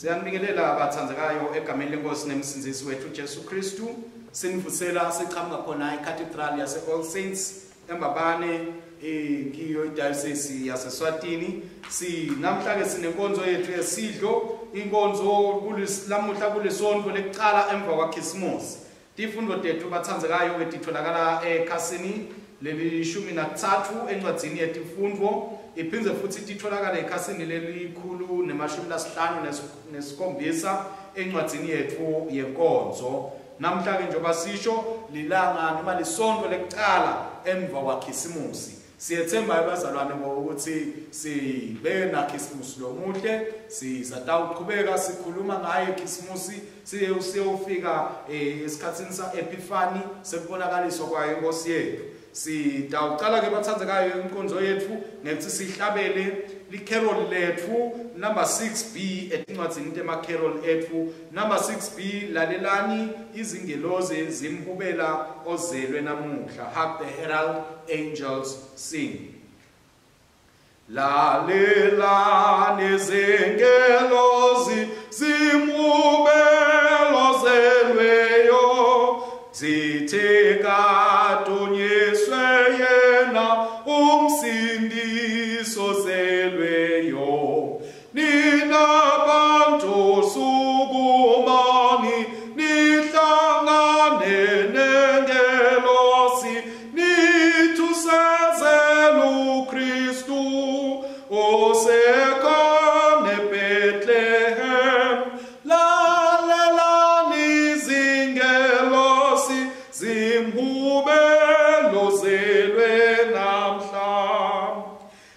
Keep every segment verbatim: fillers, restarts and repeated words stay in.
Siyanibingelela bathandzekayo egameni lenkosi nemsindzisi wethu Jesu Kristu. Sinivusela siqhamuka khona eCathedral yase All Saints eMbabane kiyo idiocese yaseSwatini. Sinamhla ke sinenkonzo yethu yesidlo, inkonzo kulesilamuhla kulesonto lekuqala emva kwaKhisimusi. Tifundo tethu bathandzekayo betitholakala ekhasini lelishumi nakutsatfu encwadzini yetifundvo, iphindze futhi titholakala ekhasini lelikhulu nemashumi lasihlanu nesikhombisa encwadzini yetfu yenkonzo. Namhla ke njengoba sisho lilanga noma lisonto lekuqala emva kwaKhisimusi. Siyethemba abazalwane ngokuthi sibe naKhisimusi lomuhle, sizatawuqhubeka sikhuluma ngaye Khisimusi siye siyofika esikhatsini sa Epiphany sekubonakaliswa kwayo inkosi yethu. Sitawucala ke bathandzekayo inkonzo yethu ngekuthi sihlabele licarol lethu number six B etincwadzini temacarol ethu number six B, lalelani izingelozi zimhubela ozelwe namuhla. Hark the herald angels sing. Lalelani izingelozi zimhubela ozelweyo, zithe kadunyiswe yena umsindisi ozelweyo. Nina bantu sukumani nihlangane nengelosi, nithusezele uKristu osekhona eBethlehem. Lalelani izingelosi zimhubela ozelwe namhla.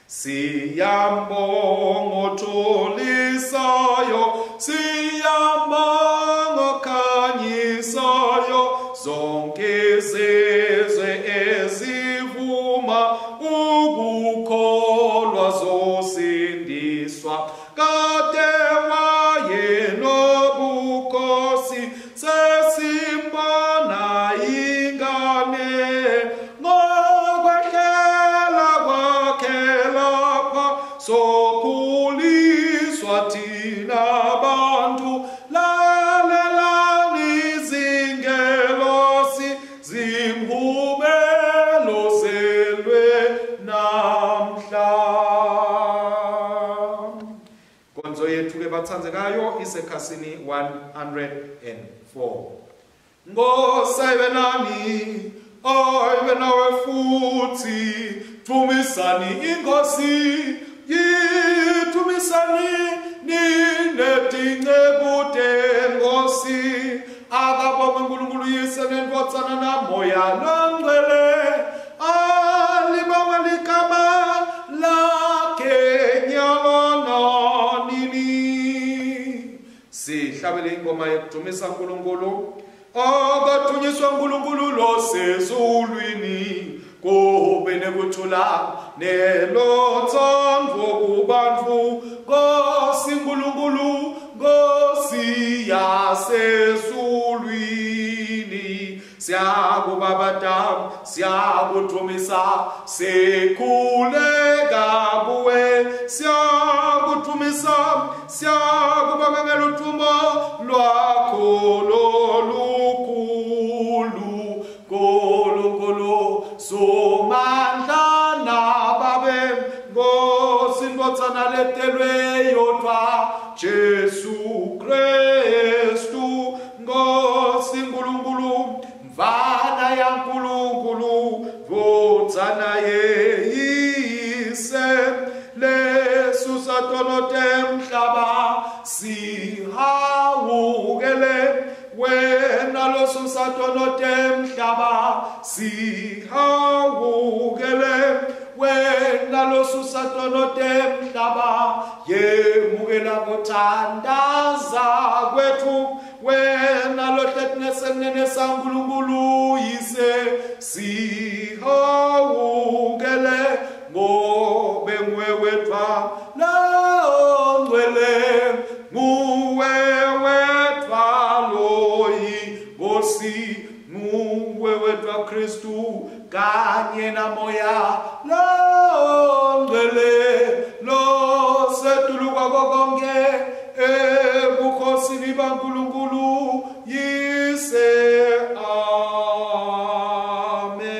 Siyambonga othulisayo, siyambonga okhanyisayo, zonke izizwe ezivuma ukukholwa zosindiswa. Kade wayenobukhosi, sesimbona ingane, ngokwehlela kwakhe lapha sokhuliswa thina bantu. Lalelani izingelosi zimhubela ozelwe namhla. Inkonzo yethu ke bathandzekayo isekhasini one hundred and four. Nkosi ayibe nani, ayibe nawe futhi, dumisani inkosi, yidumisani ninetinceku tenkosi. Akabongwe uNkulunkulu Yise neNdvodzana naMoya Longcwele, alibongwe ligama lakhe nyalo nanini. Sihlabele ingoma yokudumisa uNkulunkulu. Akadunyiswe uNkulunkulu losezulwini, kube nekuthula nelothando kubantu. Nkosi uNkulunkulu, Nkosi yasezulwini, siyakubabata, siyakudumisa, sikhuleka kuwe, siyakudumisa, siyakubonga ngeludumo lwakho lolukhulu. Nkulunkulu Somandla nababe, Nkosi Ndvodzana letelwe yodvwa, Jesu Kristu, Nkosi Nkulunkulu, Mvana yaNkulunkulu, Ndvodzana yeyise, lesusa tono temhlaba, Wena losusa tono temhlaba sihawukele, wena losusa tono temhlaba yemukela kuthandaza kwethu, wena lohleti ngesenene saNkulunkulu Yise sihawukele, ngobe nguwe wedvwa longcwele, nguwe wedvwa loyiNkosi, nguwe wedvwa Kristu kanye naMoya longcwele losetulu kwako konke ebukhosini baNkulunkulu Yise. Amen.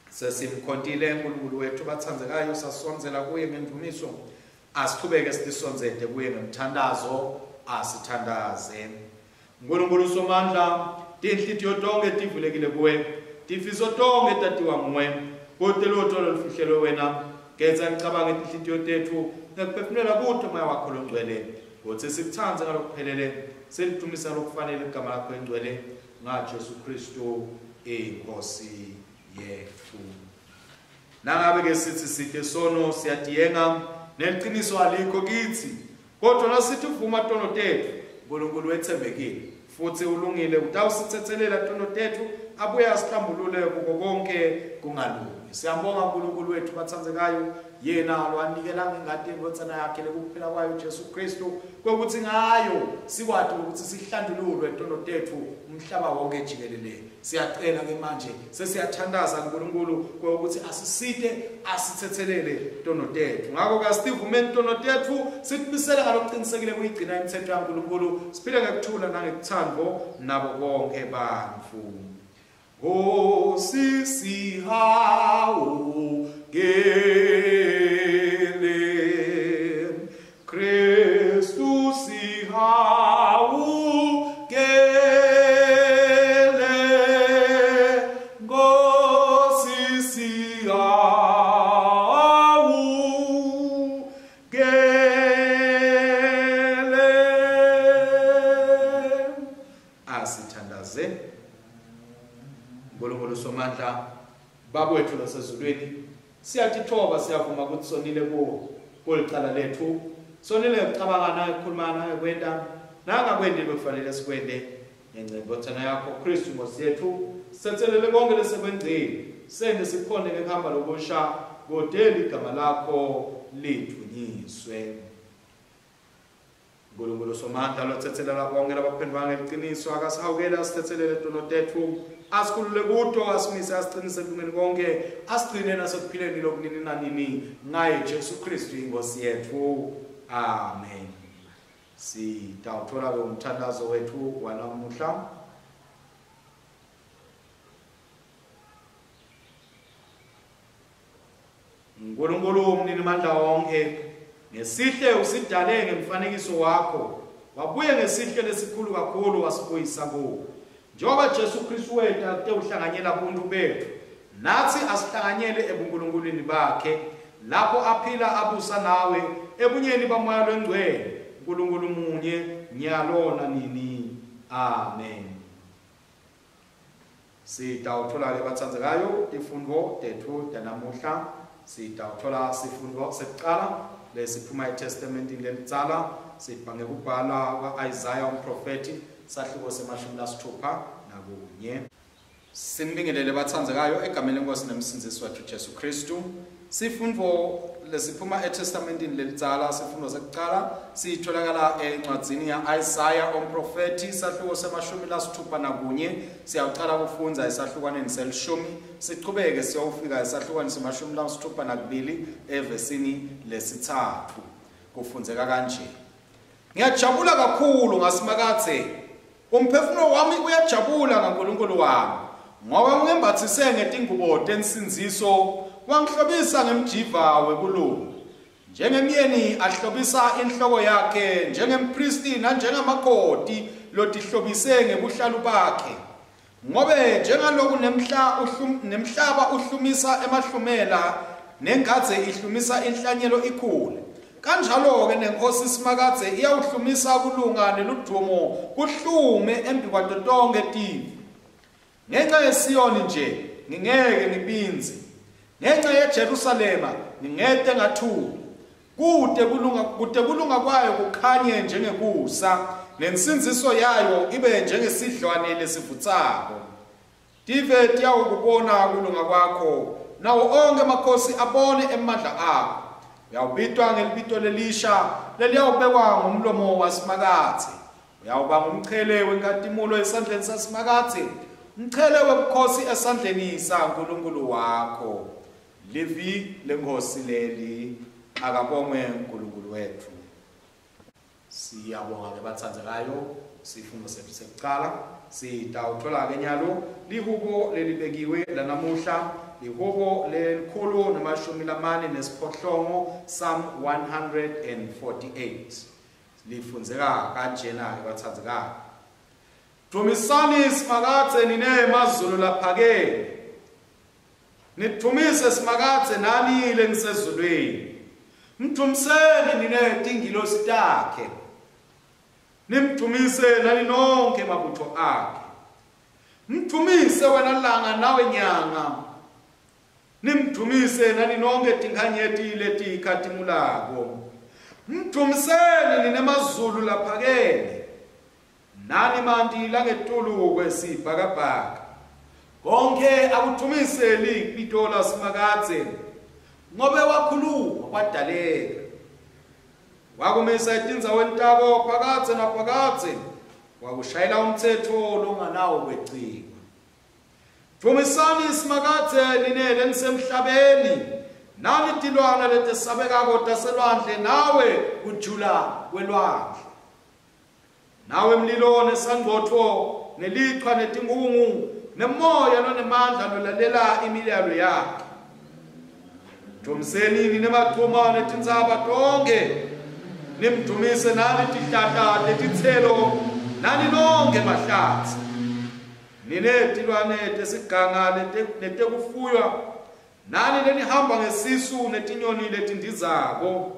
Sesimkhontile uNkulunkulu wethu bathandzekayo, sasondzela kuye ngendumiso. Asichubeke sitisondzete kuye ngemthandazo. Asithandaze. Nkulunkulu Somandla, tinhlitiyo tonke tivulekile kuwe, tifiso tonke tatiwa nguwe, kute lutho lolufihlelwe wena. Genza imicabango yetinhlitiyo tetfu ngekuphefumulela kuto Moya wakho longcwele, kutsi sikutsandze ngalokuphelele, silidvumise ngalokufanele igama lakho lengcwele, ngaJesu Kristu iNkosi yetfu. Nangabe ke sithi site sono siyatiyenga, neliciniso alikho kitsi, kodwa nasithi uvuma tono tetfu, uNkulunkulu wetsembekile futhi ulungile, utawusitsetselela tono tetfu abuye asihlambulule kuko konke kungalungi. Siyambonga uNkulunkulu wethu bathandzekayo, yena lowanikela ngengati yendvodzana yakhe lekuphila kwayo Jesu Kristu, kwekutsi ngayo sikwati ukuthi sihlandululwe tono tetfu umhlaba wonke jikelele. Siyacela ke manje, sesiyathandaza uNkulunkulu kwekutsi asisite asitsetselele tono tetfu. Ngakho ke asivumeni tono tetfu, sitimisele ngalokuqinisekile kuyigcina imithetho yaNkulunkulu, siphile ngekuthula nangekuthando nabo bonke bantfu. Nkosi sihawukele, Kristu sihawukele, Nkosi sihawukele. Asithandaze. uNkulunkulu Somandla, Baba wethu lasezulwini, siyatithoba, siyavuma ukuthi sonile kuwo kulicala lethu, sonile ngekucabanga nangekukhuluma nangekwenta nangakwendi bekufanele sikwente. Ngenca yendvodzana yakho Kristu Nkosi yethu, sitsetselele konke lesekwenzile, sente sikhone ngekuhamba lokusha, kute ligama lakho lidvunyiswe. uNkulunkulu Somandla lotsetselela bonke labaphendvuka ngeliciniso, akasihawukele asitsetselele tono tetfu, asikhulule kuto, asimise asiqinise ekulungeni konke, asigcine nasekuphileni lokunini nanini, ngaye Jesu Kristu iNkosi yetfu. Amen. Sitawuthola ke umthandazo wethu wanamuhla. uNkulunkulu umninimandla wonke, ngesihle usidale ngemfanekiso wakho, wabuye ngesihle lesikhulu kakhulu wasibuyisa kuwo. Njengoba Jesu Kristu weta kutewuhlanganyela buntu bethu, nathi asihlanganyele ebunkulunkulwini bakhe, lapho aphila abusa nawe ebunyeni baMoya loNgcwele, uNkulunkulu munye nyalo nanini. Amen. Sitawuthola ke bathandzekayo tifundvo tetfu tanamuhla. Sitawuthola sifundvo sekucala lesiphuma eTestamentini lelidzala, sibha ngekubhala kwa-Isaya umprofethi, sahluko semashumi lasithupha nakunye. Sinibingelele bathandzekayo egameni leNkosi nemsindzisi wethu Jesu Kristu. Sifundvo lesiphuma eTestamentini lelidzala, sifundo sekucala sitholakala encwadzini ya-Isaya umprofethi, sahluko semashumi lasithupha nakunye. Siyawucala kufundza esahlukwaneni selishumi, sichubeke siyofika esahlukwaneni semashumi lasithupha nakubili evesini lesitsatfu. Kufundzeka kanje: Ngiyajabula kakhulu ngaSimakadze, umphefumulo wami uyajabula ngaNkulunkulu wami, ngoba ungembatsise ngetingubo tensindziso, wangihlobisa ngemjiva wekulunga. Njengemyeni ahlobisa inhloko yakhe, njengempristi nanjengamakoti lotihlobise ngebuhlalu bakhe. Ngobe njengaloku nemhla uhlum, nemhlaba uhlumisa emahlumela, nengadze ihlumisa inhlanyelo ikhule, Kanjalo-ke nenkosi Simakadze iyawuhlumisa kulunga neludumo kuhlume embi kwato tonkhe tive. Ngenxa yeSiyoni nje ngingeke ngibindze, ngenxa yeJerusalema ngingete ngathula. Kute kulunga kute kulunga kwayo kukhanye njengekusa, nensindziso yayo ibe njengesidlwane lesivutsako. Tive tiyawukubona kulunga kwakho, nawo onkhe emakhosi abone emandla akho. Uyawubitwa ngelibito lelisha leliyawubekwa ngumlomo waSimakadze. Uyawuba ngumchele wenkatimulo esandleni saSimakadze, umchele webukhosi esandleni saNkulunkulu wakho. Livi lenkosi leli, akabongwe uNkulunkulu wethu. Siyabonga ke batsandzekayo, sifundo sethu sekucala sitawuthola ke nyalo lihubo lelibekiwe lanamuhla, lihubo lelikhulu namashumi lamane nesiphohlongo, Psalm one hundred forty-eight. Lifundzeka kanjena ke batsandzekayo. Dumisani Simakadze nine mazulu laphakeme, nidvumise Simakadze nani lenisezulwini. Mdumiseni nine tingilosi takhe, nimdumise nani nonke mabutho akhe. Mdumise wena langa nawe nyanga, nimdumise nani nonke tinkhanyeti letikhatimulako. Mdumiseni nine mazulu laphakeme, nani manti langetulu kwesibhakabhaka. Konke akudumise libito laSimakadze, ngobe wakhuluma kwadaleka. Wakumisa etindzaweni tabo phakadze naphakadze, wakushayela umtsetfo longanawo kweciwa. Dvumisani Simakadze nine lenisemhlabeni, nani tilwane letesabekako taselwandle, nawe kujula kwelwandle, nawe mlilo nesangcotfo nelichwa netingungu nemoya lonemandla lolalela imiyalo yakhe. Dvumiseni nine machuma netintsaba tonke, nimdumise nani tihlahla tetitselo nani nonke mahlatsi. Nine tilwane tesiganga netekufuywa, nani lenihamba ngesisu netinyoni letindizako.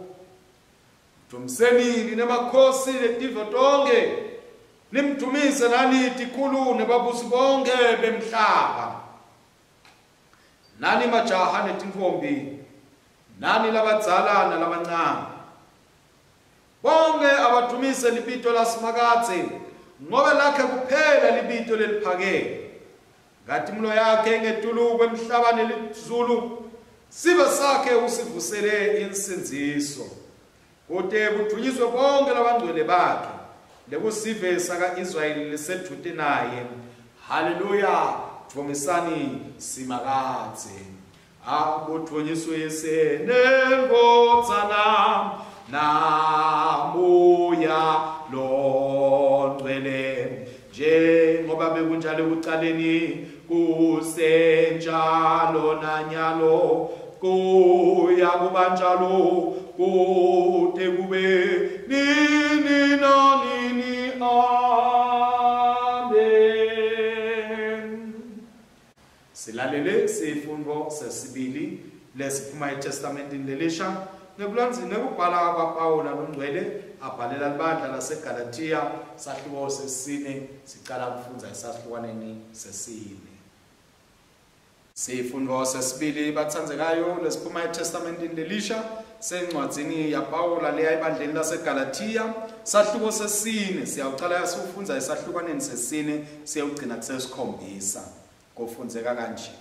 Dvumiseni nine makhosi letive tonke, nimdumise nani tikhulu nebabusi bonke bemhlaba. Nani majaha netintfombi, nani labadzala nalabancane, bonke abadumise libito laSimakadze, ngobe lakhe kuphela libito leliphakeme. Nkatimlo yakhe ngetulu kwemhlaba nelizulu, sive sakhe usivusele insindziso, kute kudvunyiswe bonke labangcwele bakhe, lekusive saka-Israyeli lesedvute naye. Haleluya, dvumisani Simakadze. Akudvunyiswe Nendvodzana naMoya Longcwele, njengoba bekunjalo ekucaleni, kusenjalo nanyalo, kuya kuba njalo kute kube nini nanini. Amen. Silalele sifundo sesibili lesiphuma eTestamentini lelisha nekulandzini nekubhala kwaPawula longcwele abhalela libandla laseGalathiya, sahluko sesine, sicala kufundza esahlukwaneni sesine. Sifundo sesibili batsandzekayo lesiphuma eTestamentini lelisha sencwadzini yaPawula leya ebandleni laseGalathiya, sahluko sesine, siyawucala sifundza esahlukwaneni sesine siyawugcina kusesikhombisa. Kufundzeka kanje: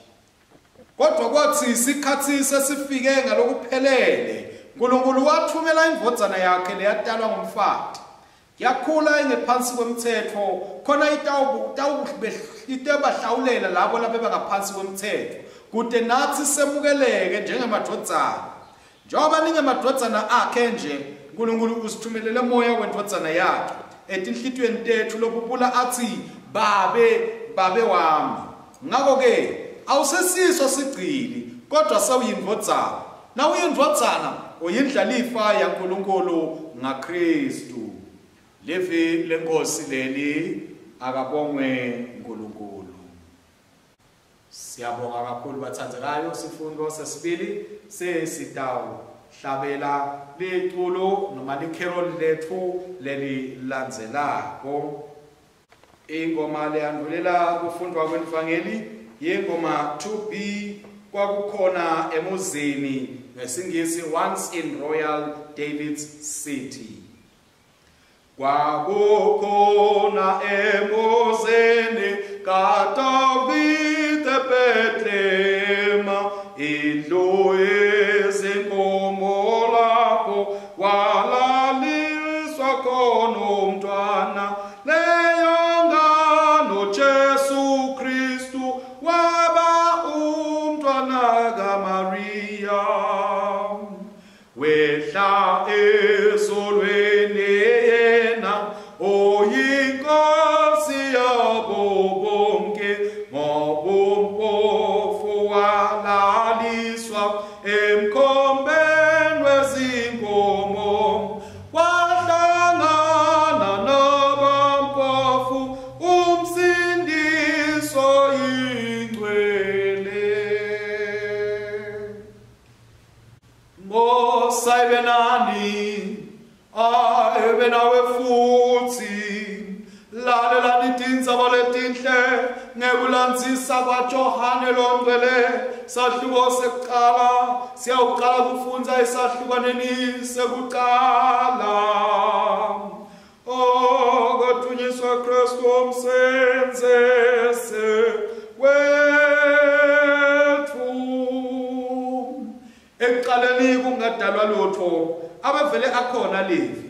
Kodwa kwathi isikhathi sesifike ngalokuphelele, uNkulunkulu wathumela indvodzana yakhe leyatalwa ngumfati, yakhula ingephansi kwemtsetfo, khona itawubahlawulela labo labebangaphansi kwemtsetfo, kute nathi semukeleke njengemadvodzana. Njengoba ningemadvodzana akhe nje, uNkulunkulu usithumelele moya wendvodzana yakhe etinhlitiyweni tetfu lobubula athi, Babe, Babe wami. Ngakho-ke awusesiso sigcili, kodwa sewuyindvodzana. Nawuyindvodzana uyindlalifa yaNkulunkulu ngaKristu. Livi lenkosi leli, akabongwe uNkulunkulu. Siyabonga kakhulu batsandzekayo, sifundo sesibili sesitawu hlabela liculo noma licarol lethu lelilandzelako. Ingoma leyandulela kufundwa kwevangeli yingoma two B kwakukhona emuzini ngesingisi Once in Royal David's City. Kwakukhona emuzini kaDavide Bethlehem indlu yezinkomo lapho walaliswa khona umntwana leyo ngano Jesu Kristu waba umntwana kaMaria wehla ezulwini yena oyinkosi yabo bonke ngobumpofu walaliswa emkhombeni wezinkomo wahlangana nabampofu umsindiso ingcwele. Ngosayibenani abe nawe futhi lalelani tindzaba letinhle ngekulandzisa kwaJohane longcwele sahluko sekuqala siyawuqala kufundza esahlukaneni sekuqala. Oh, kadunyiswe Kristu umsenzese wethu. Ekuqaleni kungadalwa lutho abevele akhona Levi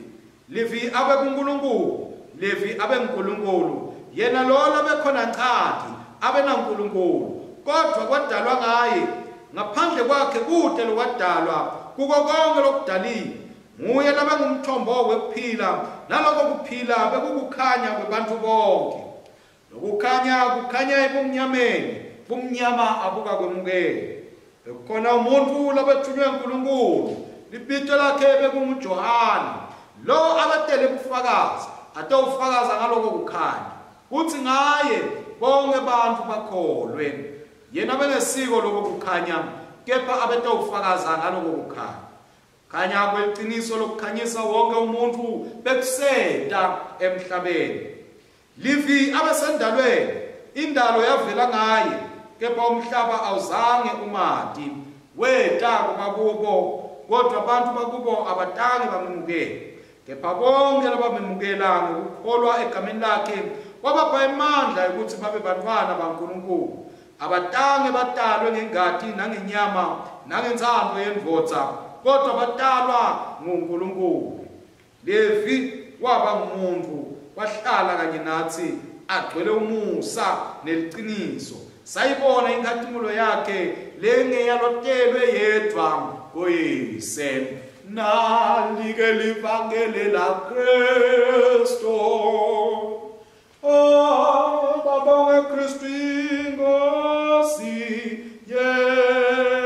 Levi abe kuNkulunkulu Levi abe nguNkulunkulu yena lo labekhona nqadi abe naNkulunkulu kodwa kwadalwa ngaye ngaphandle kwakhe kude lokwadalwa kuko konke lokudaliwe nguye labengumthombo wekuphila naloko kuphila bekukukhanya kwebantu bonke lokukhanya kukhanya ebumnyameni bumnyama abukakwemukeli. Bekukhona umuntu labethunywe uNkulunkulu libito lakhe bekunguJohane lo abatele bufakazi atawufakaza ngaloko kukhanya kuthi ngaye bonke abantu bakholwe yena bengesiko lokho kukhanya kepha abetawufakaza ngaloko kukhanya. Khanya kweqiniso lokukhanyisa wonke umuntu bekuseta emhlabeni. Livi abesendalweni indalo yavela ngaye kepha umhlaba awuzange umati weta kubakubo kodwa abantu bakubo abatange bamemukele kepha bonke labamemukela ngokukholwa egameni lakhe wabapha amandla ukuthi babe bantwana baNkulunkulu abatange batalwe ngengati nangenyama nangentsandvo yendvodza kodwa batalwa nguNkulunkulu. Levi waba ngumuntu wahlala kanye nathi agcwele umusa neliqiniso sayibona inkhatimulo yakhe lengeyalotelwe yedwa kuyise. Nalike livangeli la Kristu. Oh, babonge Kristu inkosi yethu.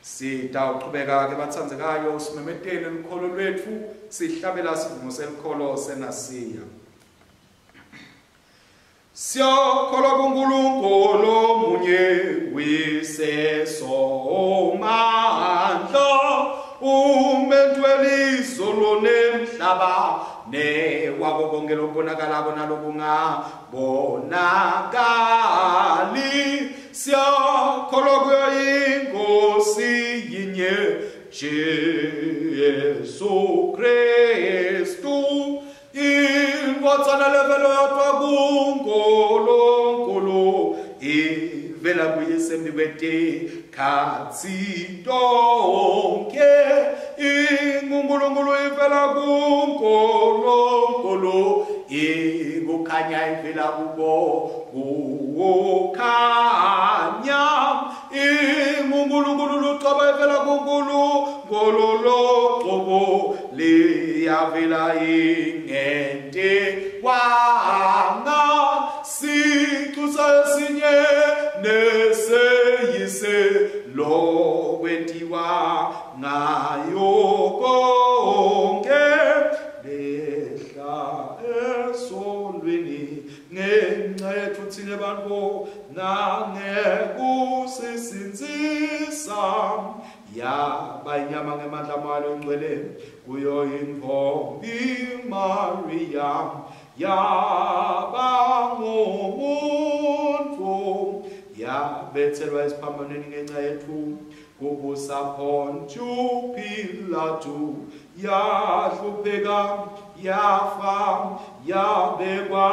Sitawuqhubeka ke batsandzekayo simemetele lukholo lwethu sihlabela sivumo selikholo senasiya. Siyakholwa kuNkulunkulu munye uyise somandla umenzi welizulu nemhlaba newako konke lokubonakalako nalokungabonakali. Siyakholwa kuyo inkosi yinye Jesu Kristu indvodzana levelo yodvwa kuNkulunkulu ivela kuyise embikwetikathi tonke inguNkulunkulu ivela kuNkulunkulu ikukhanya ivela kubo kukhanya inguNkulunkulu lucobo ivela kuNkulunkulu locobo liyavela ingente wanga sicu sesinye neseyise lokwentiwa ngayo konke lehla esolweni ngenxa yethu thina bantu nangekusisindzisa yaba inyama ngemandla amayo ngcwele kuyo intombi Maria yaba ngumuntu yabethelwa esiphambanweni ngenxa yethu kubusa Pontius Pilatu yahlupheka yafa yabekwa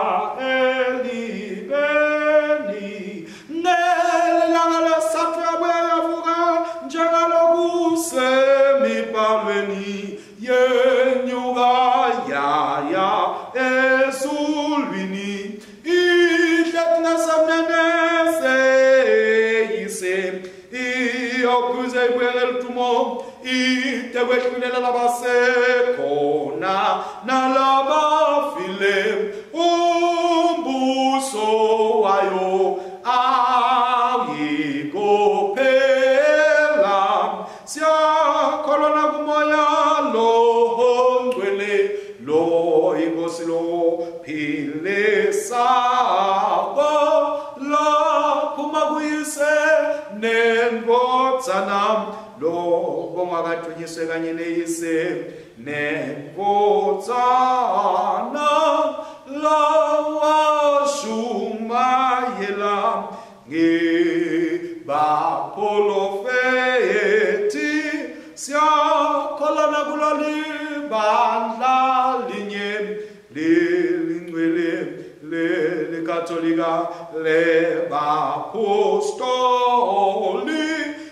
elibeni nelanga lesithathu yabuya yavuka njengalokusemibhalweni yenyuka yaya ezulwini ihleti ngasemnene seyise iyokuze ibuyele ludumo ite kwehlulela labasekhona nalabafile umbuso wayo awuyikuphela siyakholwa nakumoya lo ongcwele lo inkosi lo philisako laphuma kuyise nendvodzana lo bongakadunyiswe kanye neyise nendvodzana lawashumayela ngebaprofethi siyakholwa nakulo libandla linye lelingcwele lelikatolika lebapostoli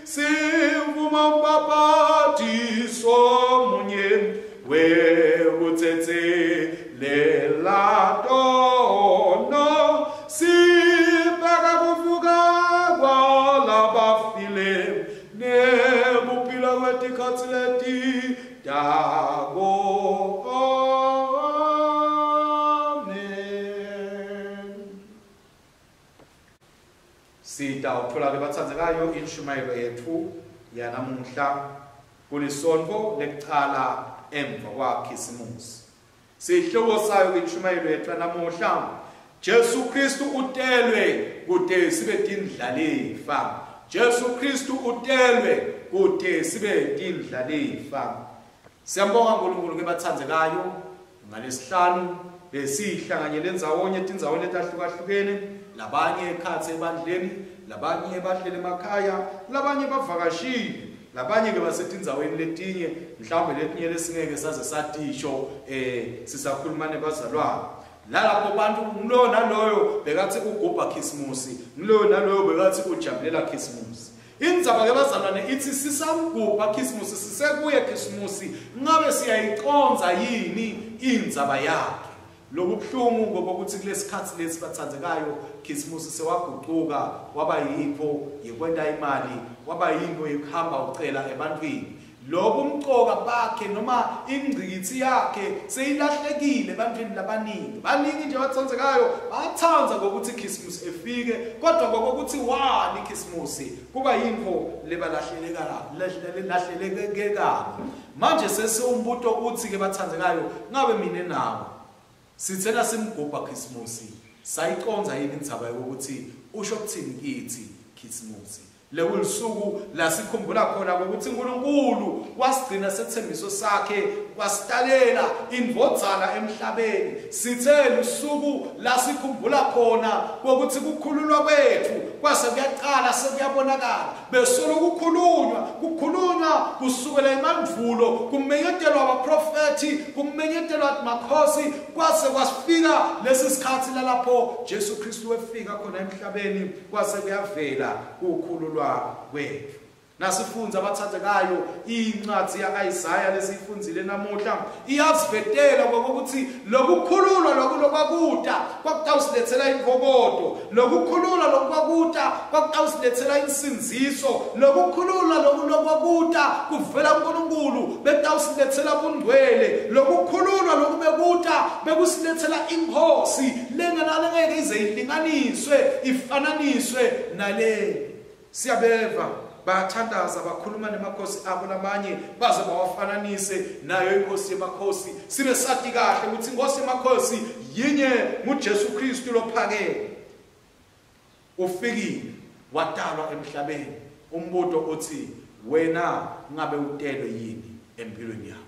sivuma umbhaphathiso munye wekutsetselela tono sibheka kuvuka kwalabafile nekuphila kwetikhatsi letitako. Amen. Sitawutfola ke batsandzekayo inshumayelo yethu yanamuhla kulisontfo lekucala emva kwaKhisimusi. Sihloko sayo inshumayelo yethu yanamuhla, Jesu Kristu utelwe kute sibe tindlalifa. Jesu Kristu utelwe kute sibe tindlalifa. Siyambonga uNkulunkulu ke batsandzekayo ngalesihlanu besihlanganyele ndzawonye tindzaweni letahlukahlukene, labanye ekhatsi ebandleni, labanye bahlele emakhaya, labanye bavakashile, labanye ke basetindzaweni letinye mhlawumbe letinye lesingeke saze satisho eh sisakhuluma nebazalwane. Lalapho bantu ngiloyo naloyo bekathi ugubha Khisimusi, ngiloyo naloyo bekathi ujabulela Khisimusi. Indzaba ke bazalwane ithi sisamgubha Khisimusi, sisekuye Khisimusi, ngabe siyayiconza yini indzaba yakhe? Lokubuhlungu ngoba ukuthi kulesikhatsi lesi batsandzekayo Khisimusi sewagucuka waba yipho yekwenta imali, waba yinto yekuhamba ucela ebantwini. Lobu umcoka bakhe noma ingcikitsi yakhe seyilahlekile ebantwini labaningi. Baningi nje batsandzekayo batsandza ngokuthi Khisimusi efike, kodwa ngokuthi wani Khisimusi kuba yinto lebalahleleka lahlelekekako. Manje sesiwumbuto uthi ke batsandzekayo, ngabe mina nawe sithena simgubha Khisimusi sayiconza yini indzaba yokuthi usho kuthini kithi Khisimusi? Lekulisuku lasikhumbula khona ukuthi uNkulunkulu wasigcina sethembiso sakhe wasitalela indvodzana emhlabeni. Sithe lusuku lasikhumbula khona ukuthi kukhululwa kwethu kwase kuyaqala sekuyabonakala. Besolo kukhulunywa kukhulunywa kusukela emandvulo, kumenyetelwa abaprofethi, kumenyetelwa makhosi, kwase kwasifika lesi sikhathi lalapho Jesu Kristu wefika khona emhlabeni kwase kuyavela kukhululwa kwethu. Nasifundza abathathekayo incwadi ya-Isaya lesiyifundzile namuhla iyasivetela ngokuthi lokukhululwa lokhu lokwakuta kwakutawusilethela inkobodo, lokukhululwa lokwakuta kwakutawusilethela insindziso, lokukhululwa lokhu lokwakuta kuvela kuNkulunkulu bekutawusilethela bungcwele, lokukhululwa lokhu bekuta bekusilethela inkosi lenganalengeke ize ilinganiswe ifananiswe nale. Siyabeva bayathandaza bakhuluma nemakhosi abo lamanye baze bawafananise nayo inkosi yemakhosi. Sibe sati kahle ukuthi inkosi yemakhosi yinye nguJesu Kristu lophakeme. Ufikile watalwa emhlabeni. Umbuto uthi wena ngabe utelwe yini empilweni yakho?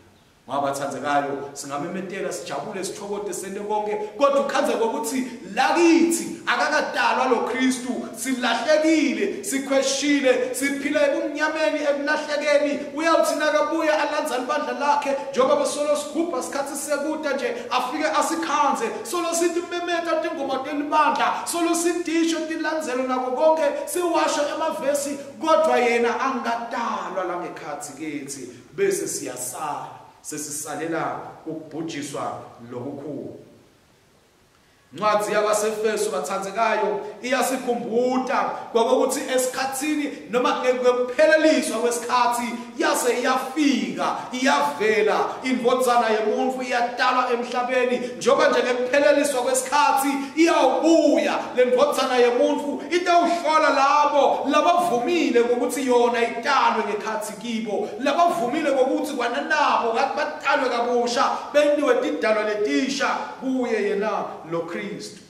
Ngoba bathandzekayo singamemetela sijabule sithokote sente konke, kodwa ukhandze kokuthi lakithi akakatalwa lo Kristu, silahlekile, sikhweshile, siphila ebumnyameni, ekulahlekeni. Uyawuthi nakabuya alandza libandla lakhe, njengoba besolo sigubha sikhathi sekuta nje, afike asikhandze solo sithi memeta tingoma telibandla, solo sidisho tilandzelo nako konke, siwasho emavesi, kodwa yena angatalwa la ngekhathi kithi, bese siyasala sesisalela ukubhujiswa lokukhulu. Incwadi yabaseFesu bathandzekayo iyasikhumbuta ngokuthi esikhathini noma ngekupheleliswa kwesikhathi yase iyafika, iyavela indvodzana yemuntu, iyatalwa emhlabeni. Njengoba nje ngekupheleliswa kwesikhathi iyawubuya le ndvodzana yemuntu, itawuhlola labo labavumile ngokuthi yona italwe ngekhathi kibo, labavumile ngokuthi kwananabo ngathi batalwe kabusha, bentiwe tidalwa letisha kuye yena lo Kristu.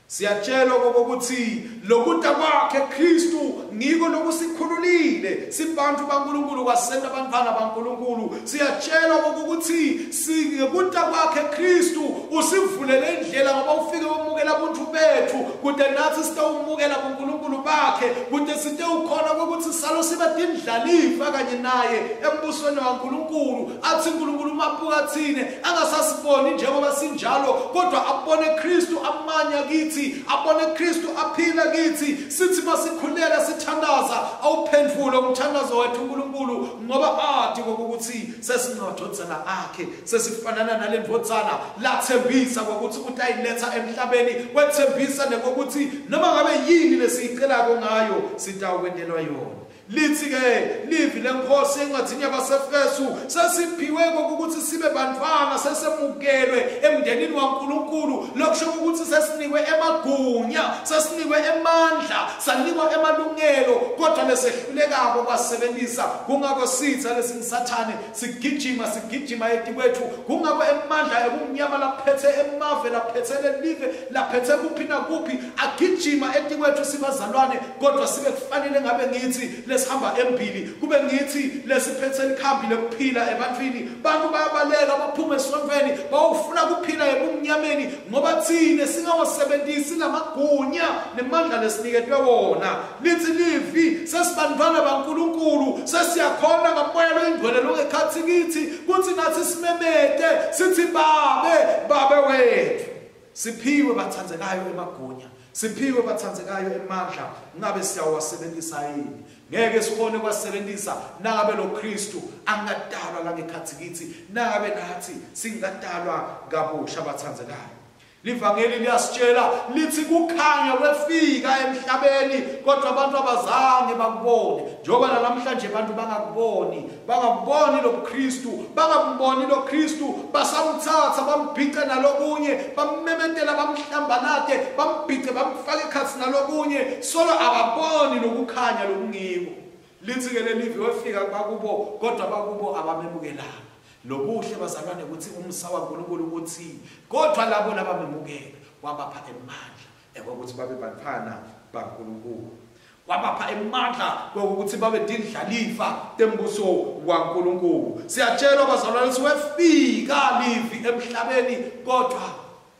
Siyatshelwa ukuthi lokuta kwakhe Kristu ngiko lokusikhululile sibantu baNkulunkulu, kwasenta abantwana baNkulunkulu. Siyatshelwa ukuthi ngekuta kwakhe Kristu usivulele indlela, ngoba ufike wamukela ubuntu bethu kude nathi sitawumukela kuNkulunkulu bakhe, kude sitewukhona ukuthi salo sibe tindlalifa kanye naye embusweni waNkulunkulu. Athi uNkulunkulu mabuka thine angasasiboni njengoba sinjalo, kodwa abone Kristu amanya kithi, abone Kristu aphila kithi. Sithi masikhuleka sithandaza, awuphendvule umthandazo wethu uNkulunkulu, ngoba athi ukuthi sesingadvodzana akhe, sesifanana nale ndvodzana lathembisa ukuthi utayiletha emhlabeni, wethembisa nekokuthi noma ngabe yini lesiyicelako ngayo sitawukwentelwa yona. Lithi ke livi lenkosi encwadini yabaseFesu, sesiphiwe ukuthi sibe bantwana, sesemukelwe emndenini waNkulunkulu. Lokusho ukuthi sesinikwe emagunya, sesinikwe emandla, sanikwa emalungelo, kodwa lesehlulekako kwasebenzisa. Kungako sitha lesingisathane sigijima sigijima etikwethu, kungako emandla ebumnyama laphethe emave, laphethe lelive, laphethe kuphi nakuphi, agijima etikwethu sibazalwane, kodwa sibe kufanele ngabe ngithi lesihamba embili, kube ngithi lesiphethe likhambi lokuphila ebantwini. Bantu bayabaleka baphume esontweni bawufuna kuphila ebumnyameni, ngoba thine singawasebenzisi lamagunya nemandla lesiniketwe wona. Lithi livi sesibantwana baNkulunkulu, sesiyakhona ngamoya loyingcwele longekhathi kithi kuthi nathi simemete sithi babe, babe wethu. Siphiwe bathandzekayo emagunya, siphiwe bathandzekayo emandla, ngabe siyawasebenzisa yini? Ngeke sikhone kwasebenzisa nangabe lo Kristu angadalwa la ngekhathi kithi, nangabe nathi singadalwa kabusha bathandzekayo. Livangeli liyasitshela lithi kukhanya kwefika emhlabeni, kodwa abantu abazange bakubone. Njengoba namhlanje abantu bangakuboni, bangaboni lo Kristu, bangamboni lo Kristu, basamthatha bambhice nalokunye, bammemetela bamhlambalate, bambhice bamfake ekhathi nalokunye, solo ababoni lokukhanya lokungiko. Lithi ke lelivi wefika bakubo, kodwa bakubo abamemukelanga. Lokuhle bazalwane ukuthi umsa waNkulunkulu uthi kodwa labo labamemukela wabapha emandla ekokuthi babe bantwana baNkulunkulu, wabapha emandla kokuthi babe dindlalifa tembuso waNkulunkulu. Siyatshelwa bazalwane ukuthi wefika livi emhlabeni, kodwa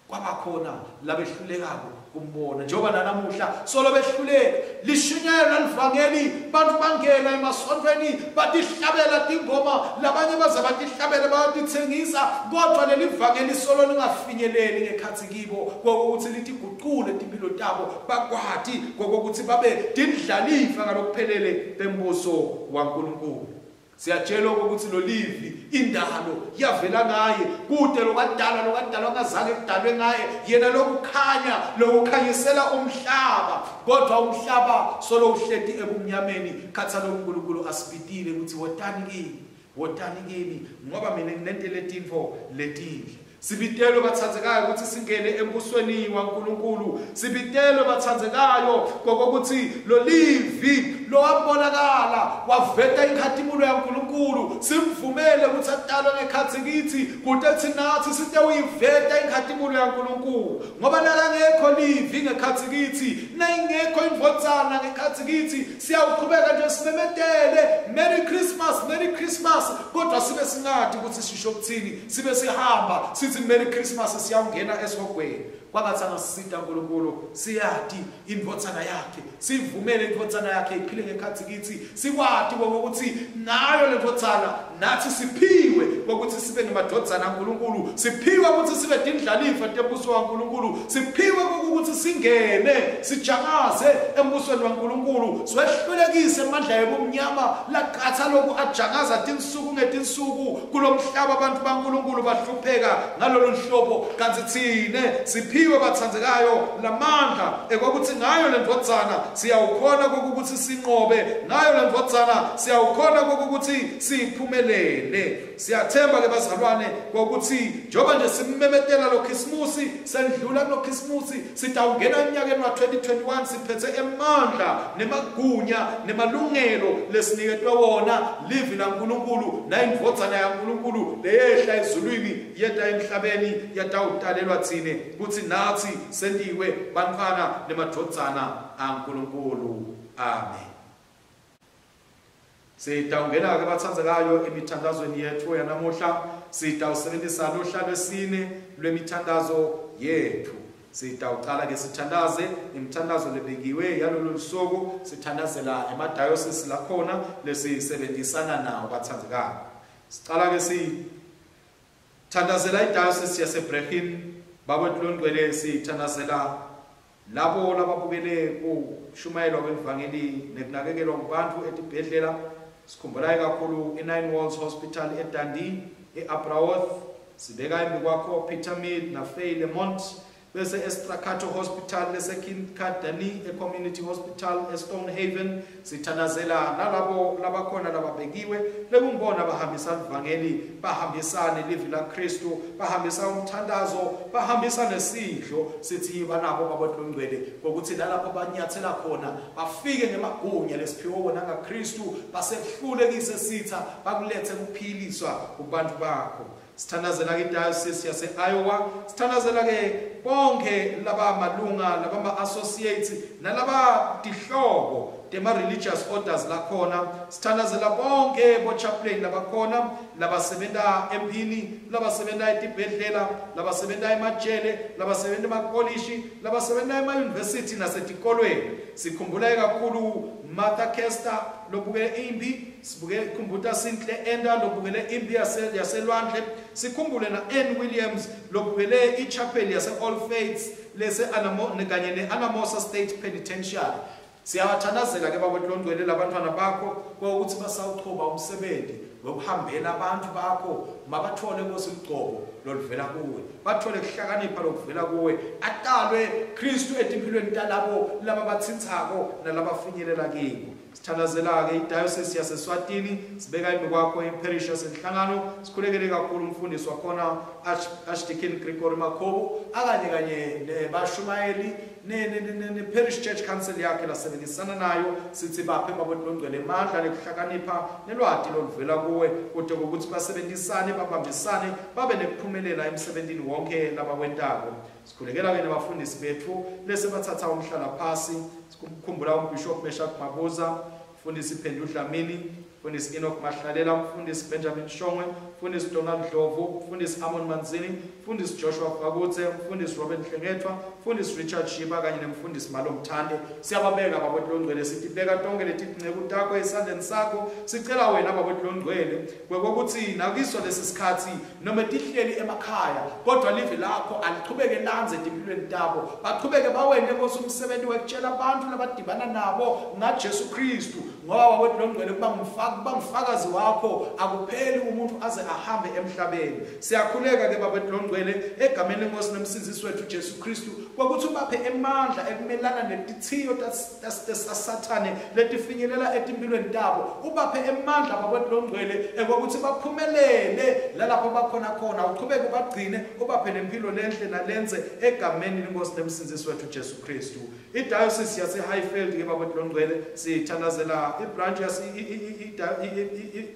kwabakhona labehlulekako kumbona. Njengoba nanamuhla solo behluleka, lishunyayelwa livangeli, bantu bangena emasontweni batihlabela tingoma, labanye baze batihlabele bayatithengisa, kodwa leli vangeli solo lingafinyeleli ngekhathi kibo kokuthi litiguqule timpilo tabo, bakwati kokuthi babe tindlalifa ngalokuphelele bembuso waNkulunkulu. Siyatshelwa ukuthi lo livi indalo yavela ngaye, kude lokwadalwa lokwadalwa ngazange kudalwe ngaye, yena lokukhanya lokukhanyisela umhlaba, kodwa umhlaba solo uhleti ebumnyameni. Khatha loNkulunkulu asibitile ukuthi wotani kimi, wotani kimi, ngoba mina nginento letinfo letinhle. Sibitelwe bathandzekayo ukuthi singene embusweni waNkulunkulu. Sibitelwe bathandzekayo kokuthi lo livi lowabonakala waveta inkhatimulo yaNkulunkulu, simvumele ukuthi atalwe ngekhatsi kithi kute nathi site uyiveta inkhatimulo yaNkulunkulu. Ngoba nakangekho livi ngekhatsi kithi, nayingekho indvodzana ngekhatsi kithi, siyawuqhubeka nje simemetele Merry Christmas, Merry Christmas, kodwa sibe singathi ukuthi sisho ukuthini, sibe sihamba sithi Merry Christmas siyawungena esihogweni. Kwangathi angasisita uNkulunkulu siyati indvodzana yakhe, sivumele indvodzana yakhe iphile ngekhatsi kithi, sikwati ukuthi nayo le ndvodzana nathi siphiwe ukuthi sibe ngemadvodzana aNkulunkulu, siphiwe ukuthi sibe tindlalifa tembuso waNkulunkulu, siphiwe ukuthi singene sijakaze embusweni waNkulunkulu, siwehlulekise amandla ebumnyama laqatha lokhu ajakaza tinsuku ngetinsuku kulomhlaba. Abantu baNkulunkulu bahlupheka ngalolu hlobo, kanti thine siphiwe bathandzekayo lamandla ekwakuthi ngayo le ndvodzana siyawukhona ukuthi sinqobe, ngayo le ndvodzana siyawukhona ukuthi siphumelele. Siyathemba ke bazalwane ukuthi njengoba nje simemetela lo Christmas, sendlula kulo Christmas, sitawungena eminyakeni wa twenty twenty-one siphethe emandla nemagunya nemalungelo lesiniketwe wona livi laNkulunkulu nayindvodzana yaNkulunkulu leyehla ezulwini yeta emhlabeni yatawutalelwa thine kuthi nathi sendiwe bantfwana nemadvodzana aNkulunkulu. Amen. Sitawungena ke bathandzekayo emithandazweni yethu yanamuhla. Sitawusebenzisa luhla lwesine lwemithandazo yethu. Sitawuqala ke sithandaze imithandazo lebekiwe yalolu suku, sithandazela emadayosisi lakhona lesisebenzisana nawo bathandzekayo. Sicala ke sithandazela idayosisi yaseBrechin. Baba Longcwele, sithandazela labo lababukele kushumayelwa kwevangeli nekunakekelwa kubantu etibhedlela. Sikhumbulayo kakhulu i-Nine Walls Hospital eDundee, e-Abraworth. Sibeka embi kwakho Peter Mead naFay Lemont, bese eStrakato Hospital leseKincardini, e-Community Hospital eStonehaven. Sithandazela nalabo labakhona lababekiwe lekungibona bahambisa ivangeli, bahambisane livi laKristu, bahambisa umthandazo, bahambisa nesidlo. Sithi banabo Baba Longcwele ngokuthi nalapho banyathela khona bafike ngemagunya lesiphiwe wona ngaKristu, basehlulekise sitha, bakulethe kuphiliswa kubantu bakho. Sithandazela ke diocese yase Iowa, sithandazela ke bonke laba malunga, laba associates nalaba tihlobo tema religious orders lakhona. Sithandazela bonke bo chaplain labakhona, labasebenta empini, labasebenta etibhedlela, labasebenta emajele, labasebenta emakolishi, labasebenta ema university nasetikolweni. Sikhumbula kakhulu Martha Kester lobukele impi, sibuke khumbuta Sinhle Enda lobukele impi yaselwandle, sikhumbule na Ann Williams lobukele ichapel yase All Faiths lese Anamo kanye ne Anamosa State Penitentiary. Siyawathandazela ke Baba Longcwele labantwana bakho ukuthi basawuchoba umsebenzi wokuhambela abantu bakho, mabathole Nkosi ugcobo loluvela kuwe, bathole kuhlakanipha lokuvela kuwe, atalwe Kristu etimpilweni talabo laba bathinthako nalabafinyelela kibo. Sithandazela ke idiocese yaseSwatini, sibeka embi kwakho iparish yasenhlangano, sikhulekele kakhulu umfundisi wakhona Archdeacon Gregory Makhobo akanye kanye nebashumayeli ne ne ne parish church council yakhe lasebenzisana nayo. Sithi baphe Baba Longcwele amandla nekuhlakanipha nelwati loluvela kuwe kude ukuthi basebenzisane, babambisane, babe nekuphumelela emsebenzini wonke labawentako. Sikhulekela ke nabafundisi bethu lese bathatha umhlala phasi. Sikhumbula uBishop Meshak Mabuza, mfundisi Phendu Dlamini, mfundisi Enoch Mahlalela, mfundisi Benjamin Shongwe, mfundisi Donald Ndlovu, mfundisi Amon Manzini, mfundisi Joshua Fakutse, mfundisi Robert Hlengethwa, mfundisi Richard Shiba kanye nemfundisi Malomthande. Siyababeka Baba Longcwele, sithi beka tonke letinceku takho esandleni sakho. Sicela wena Baba Longcwele kwekuthi nakiso lesi sikhathi noma tihleli emakhaya, kodwa live lakho alichubeke lanze etimpilweni tabo, bachubeke bawende Nkosi umsebenzi wekutshela abantu labadibana nabo ngaJesu Kristu. Ngoba Baba Longcwele kuba ngumfakazi wakho, akupheli umuntu aze ahambe emhlabeni. Siyakhuleka ke Baba Longcwele egameni lenkosi nomsindzisi wethu Jesu Kristu kwakuthi ubaphe emandla ekumelana netithiyo taSathane letifinyelela etimpilweni tabo. Ubaphe emandla Baba Longcwele ekwakuthi baphumelele lalapho bakhona khona, uchubeke ubagcine ubaphe nempilo lenhle nalenze egameni lenkosi nomsindzisi wethu Jesu Kristu. I-diocese yase Highfield ke Baba Longcwele sithandazela i-branch yase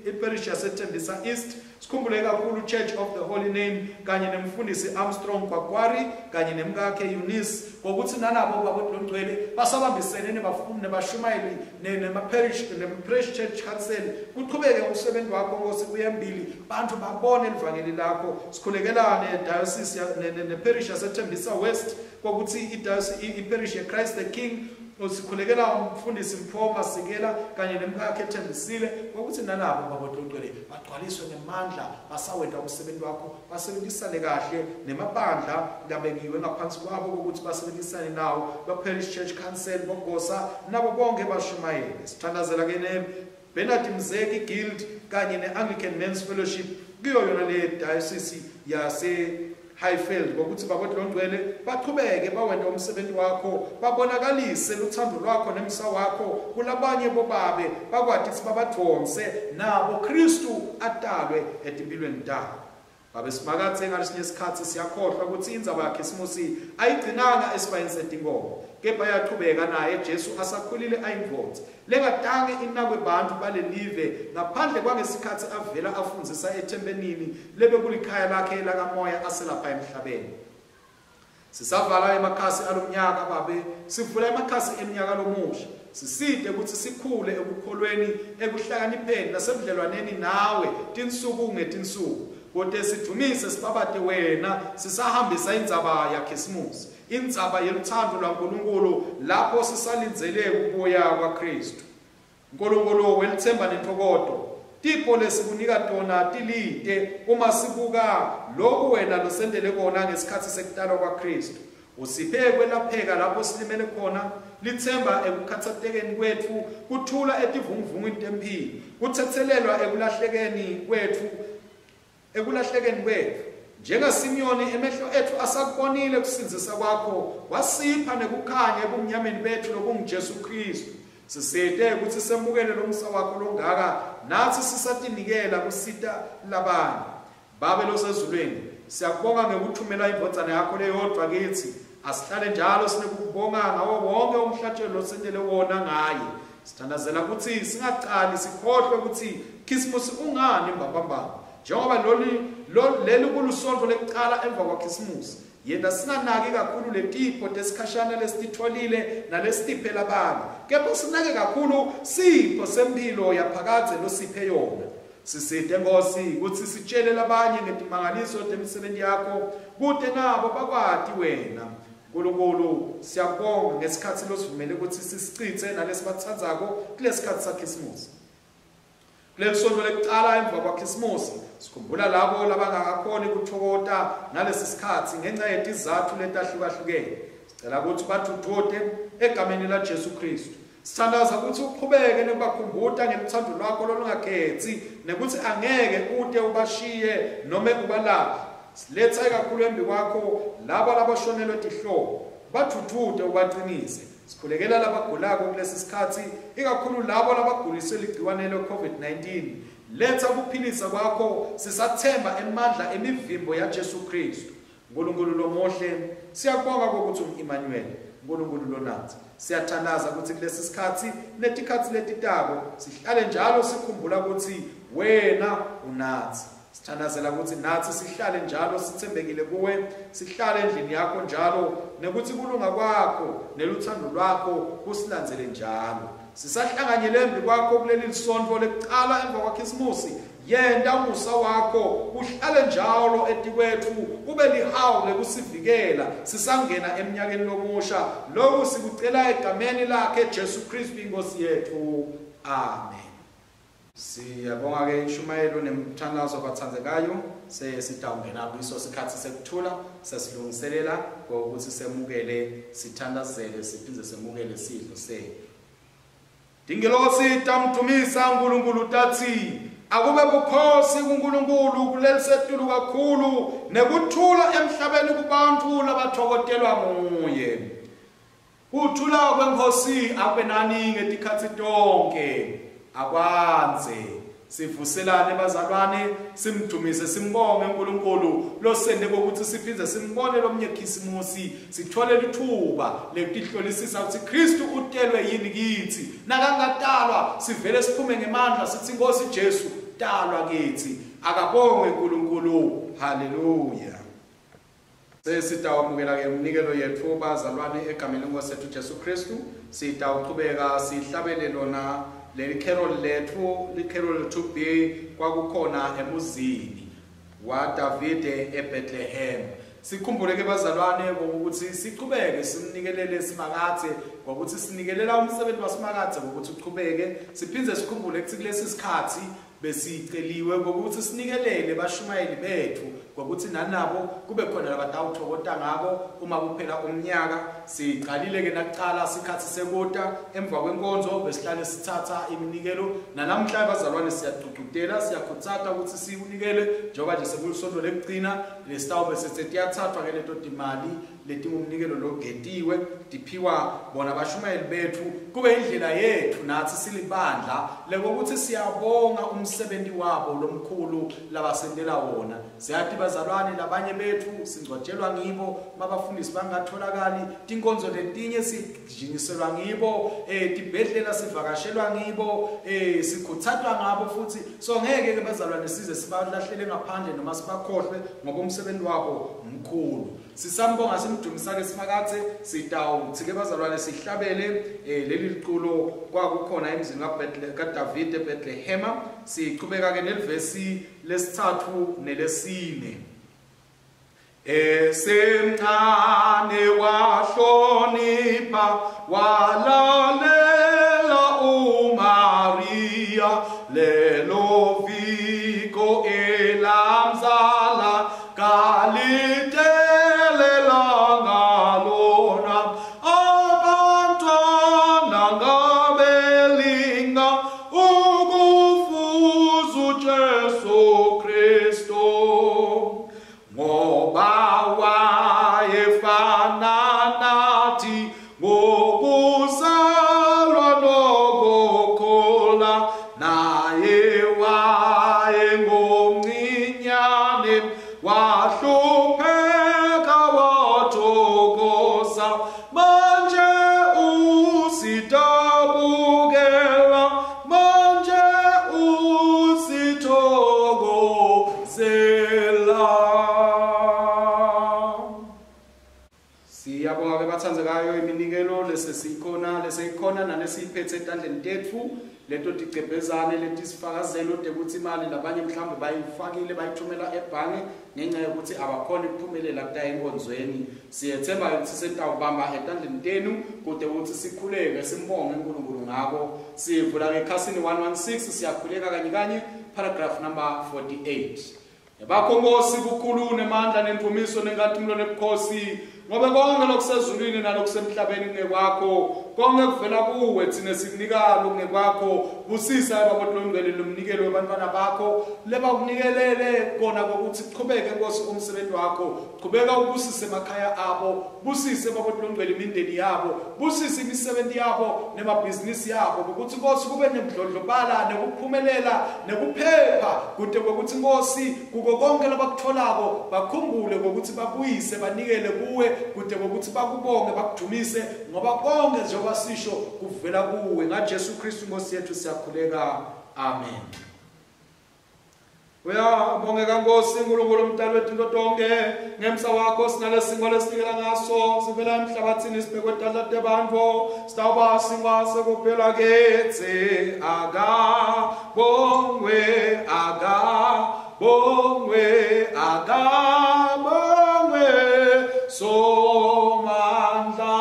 i-parish yaseThembisa East. Sikhumbule kakhulu Church of the Holy Name kanye nemfundisi Armstrong Kwakwari kanye nemkakhe Eunice, ngokuthi nanabo Baba Longcwele basabambisene nebafundi nebashumayeli nema-parish nema-parish church council. Kuqhubeke umsebenzi wakho Nkosi uyembili, bantu babone livangeli lakho. Sikhulekelane diocese ne-parish yaseThembisa West kokuthi i-diocese i-parish ye-Christ the King. Sikhulekela umfundisi Mpho Masikela kanye nemkakhe Thembisile ukuthi nalabo Baba Longcwele bagcwaliswe ngemandla basawenda umsebenzi wakho, basebenzisane kahle nemabandla labekiwe ngaphansi kwabo ukuthi basebenzisane nawo, ba Parish Church Council, bogosa nabo bonke bashumayele. Sithandazela ke ne Bernard Mzeki Guild kanye ne-Anglican Men's Fellowship kuyo yona le diocese yase Highfield, ngokuthi Baba Longcwele baqhubeke bawende umsebenzi wakho, babonakalise luthando lwakho nemsa wakho kulabanye bobabe, bakwati ukuthi babadvonse nabo Kristu atalwe etimpilweni tabo. Babe Simakadze, ngalesinye isikhathi siyakhohlwa ukuthi indzaba yaKhisimusi ayigcinanga esibayeni setinkomo, kepha yachubeka naye Jesu asakhulile ayindvodza lengatange inakwe bantu balelive ngaphandle kwangesikhathi avela afundzisa ethempelini lebekulikhaya lakhe lakamoya aselapha emhlabeni. Sisavala emakhasi alomnyaka Babe, sivula emakhasi eminyaka lomusha. Siside ukuthi sikhule ekukholweni, ekuhlakanipheni nasebudlelwaneni nawe tinsuku ngetinsuku. Kodwa sidumise sibabate wena sisahambisa indzaba yaKhisimusi, indzaba yeluthando lwaNkulunkulu lapho sisalindzele kubuya kwaKristu. Nkulunkulu welithemba nentokoto, tipho lesikunika tona tilite uma sibuka lokhu wena losendele kona ngesikhathi sekutalwa kwaKristu. Usiphe kwelapheka lapho silimele khona, lithemba ekukhathatekeni kwetfu, kuthula etivunguvungwini temphilo, kuthethelelwa ekulahlekeni kwetfu ekulahlekeni kwetfu. NjengaSimiyoni emehlo etfu asakubonile kusindzisa kwakho, wasipha nekukhanya ebumnyameni bethu lokunguJesu Kristu. Sisite ukuthi semukele lomsa wakho longaka, nathi sisatinikela kusita labanye. Babe losezulwini, siyakubonga ngekuthumela indvodzana yakho leyodvwa kitsi. Asihlale njalo sinekukubonga ngawo wonke umhlatshelo losentele wona ngaye. Sithandazela ukuthi singacali sikhohlwe ukuthi Khisimusi ungani mbambamba, njengoba loli leli kulusonto lekucala emva kwaKhisimusi. Yena singanaki kakhulu letipho tesikhashana lesititfolile nalesitiphe labanye, kepha sinake kakhulu sipho sempilo yaphakadze losiphe yona. Sisite Nkosi ukuthi sitshele labanye ngetimangaliso temisebenti yakho, kute nabo bakwati wena. Nkulunkulu, siyabonga ngesikhathi losivumele ukuthi sisicitse nalesibatsandzako kulesikhathi saKhisimusi. Kuleli sonto lekucala emva kwaKhisimusi sikhumbula labo labangakakhoni kuthokota ngalesi sikhathi ngenxa yetizathu letahlukahlukene. Sicela ukuthi bathuthuke egameni laJesu Kristu. Sithandaza ukuthi uqhubeke nekubakhumbuta ngeluthando lwakho lolungakhethi nekuthi angeke ude ubashiye noma ubalahle. Siletha kakhulu embi kwakho labo labashonelwe tihlobo, bathuthute ubaqinise. Sikhulekela labagulako kulesi sikhathi, ikakhulu labo labaguliswe ligciwane le-COVID nineteen. Letha kuphilisa kwakho, sisathemba emandla emivimbo yaJesu Kristu. Nkulunkulu lomuhle, siyakubonga kokuthi ungu-Emmanuel, Nkulunkulu lonathi. Siyathandaza ukuthi kulesi sikhathi netikhathi letitako sihlale njalo sikhumbula ukuthi wena unathi. Sithandazela ukuthi nathi sihlale njalo sithembekile kuwe, sihlale endlini yakho njalo, nekuthi kulunga kwakho neluthando lwakho kusilandzele njalo. Sisahlanganyele embi kwakho kuleli lisonto lekucala emva kwaKhisimusi. Yenta umusa wakho uhlale njalo etikwetfu, ube lihawu lekusivikela sisangena eminyakeni lomusha. Lokhu sikucela egameni lakhe Jesu Kristu inkosi yethu. Amen. Siyabonga ke inshumayelo nemthandazo abathandekayo. Sesitawungena kuso sikhathi sekuthula, sesilungiselela ukuthi semukele, sithandazele, siphindze semukele sidlo sethu. Tingelosi tamdumisa uNkulunkulu tathi, Akube bukhosi kuNkulunkulu kulelisetulu kakhulu nekuthula emhlabeni kubantu labathokotelwa nguye. Kuthula kwenkosi akube nani ngetikhatsi tonke. Akwanze sivuselane bazalwane, simdumise simbonge uNkulunkulu losende kokuthi siphindze simbone lomnye Khisimusi, sithole lithuba lekutihlolisisa ukuthi Kristu utelwe yini kithi. Nakangatalwa sivele siphume ngemandla sithi Nkosi Jesu talwa kithi. Akabongwe uNkulunkulu. Haleluya. Sesitawamukela ke umnikelo yethu bazalwane egameni lenkosi yethu Jesu Kristu. Sitawuchubeka sihlabele lona leli carol lethu, li-carol two B kwakukhona emuzini waDavide eBethlehem. Sikhumbule ke bazalwane ngokuthi sichubeke simnikelele Simakadze, ngokuthi sinikelela umsebenzi waSimakadze ngokuthi uchubeke. Siphindze sikhumbule ukuthi kulesi sikhathi besiceliwe ngokuthi sinikelele bashumayeli bethu ngokuthi nanabo kube khona labatawuthokota ngako uma kuphela umnyaka. Siqalile ke nakuqala sikhathi sekuta emva kwenkonzo besihlale sithatha iminikelo. Nanamhla bazalwane siyagqugqutela, siyakhuthata ukuthi sikunikele njengoba nje sekulisonto lekugcina lesitawube sesiyathathwa ke leto timali letingumnikelo logetiwe tiphiwa bona bashumayeli bethu, kube indlela yethu nathi silibandla lekokuthi siyabonga umsebenzi wabo lomkhulu labasendela wona. Siyathi bazalwane labanye bethu singcwatshelwa ngibo, mabafundisi bangatholakali, tinkonzo letinye sijinyiselwa ngibo, eh tibhedlela sivakashelwa ngibo, eh sikhuthathwa ngabo futhi. So ngeke ke bazalwane size sibalahlele ngaphandle noma sibakhohlwe ngoba umsebenzi wabo mkhulu. Sisambonga simdumisa ke Simakadze. Sitawuthi ke bazalwane sihlabele eh, leli liculo kwakukhona emzini kaDavide eBethlehem. Sichubeka ke nelivesi lesithathu nelesine. Esemncane wahlonipha walalela uMaria, lelo viko elamzala kalitelelanga lona. Abantwana ngabelinga ukufuza uJesu Kristu, ngoba wayefana nathi ngokuzalwa nokukhula, naye wayengomncinyane wahlupheka wathokoza. Manje usitabukela, manje usithokozela. Siyabonga ke bathandzekayo iminikelo lesesikhona leseyikhona nalesiyiphethe etandleni tetfu, leto ticebhezane letisifakazelo tekuthi imali labanye mhlawumbe bayifakile bayithumela ebhange ngenxa yokuthi abakhona ukuphumelela kuta enkonzweni. Siyethemba ukuthi sitawubamba etandleni tenu kude ukuthi sikhuleke simbonge uNkulunkulu ngako. Sivula ngekhasini one one six siyakhuleka kanye kanye paragraph number forty-eight. Yabakho Nkosi bukhulu nemandla nendumiso nenkazimulo nebukhosi, ngoba konke lokusezulwini nalokusemhlabeni kungekwakho, konke kuvela kuwe, thina sikunika lokungekwakho. Busisa Baba Longcwele lomnikelo wabantwana bakho lebakunikelele kona kokuthi kuqhubeke Nkosi umsebenzi wakho. Qhubeka ubusise emakhaya abo, busise Baba Longcwele imindeni yabo, busise imisebenzi yabo nemabhizinisi yabo, ukuthi Nkosi kube nemdlondlobala nekuphumelela nekuphepha kude kokuthi Nkosi kuko konke labakutholako bakhumbule ngokuthi babuyise banikele kuwe kude kokuthi bakubonge bakudumise, ngoba konke njengoba sisho kuvela kuwe. NgaJesu Kristu Nkosi yethu siyakhuleka, amen. Uyabongeka Nkosi uNkulunkulu umdali wethu into tonke, ngemsa wakho sinalesingwa lesinikela ngaso sivela emhlabathini sibhekwe tandla tebantu, sitawuba singwa sekuphela ketsi. Akabongwe, akabongwe, akabongwe Somandla.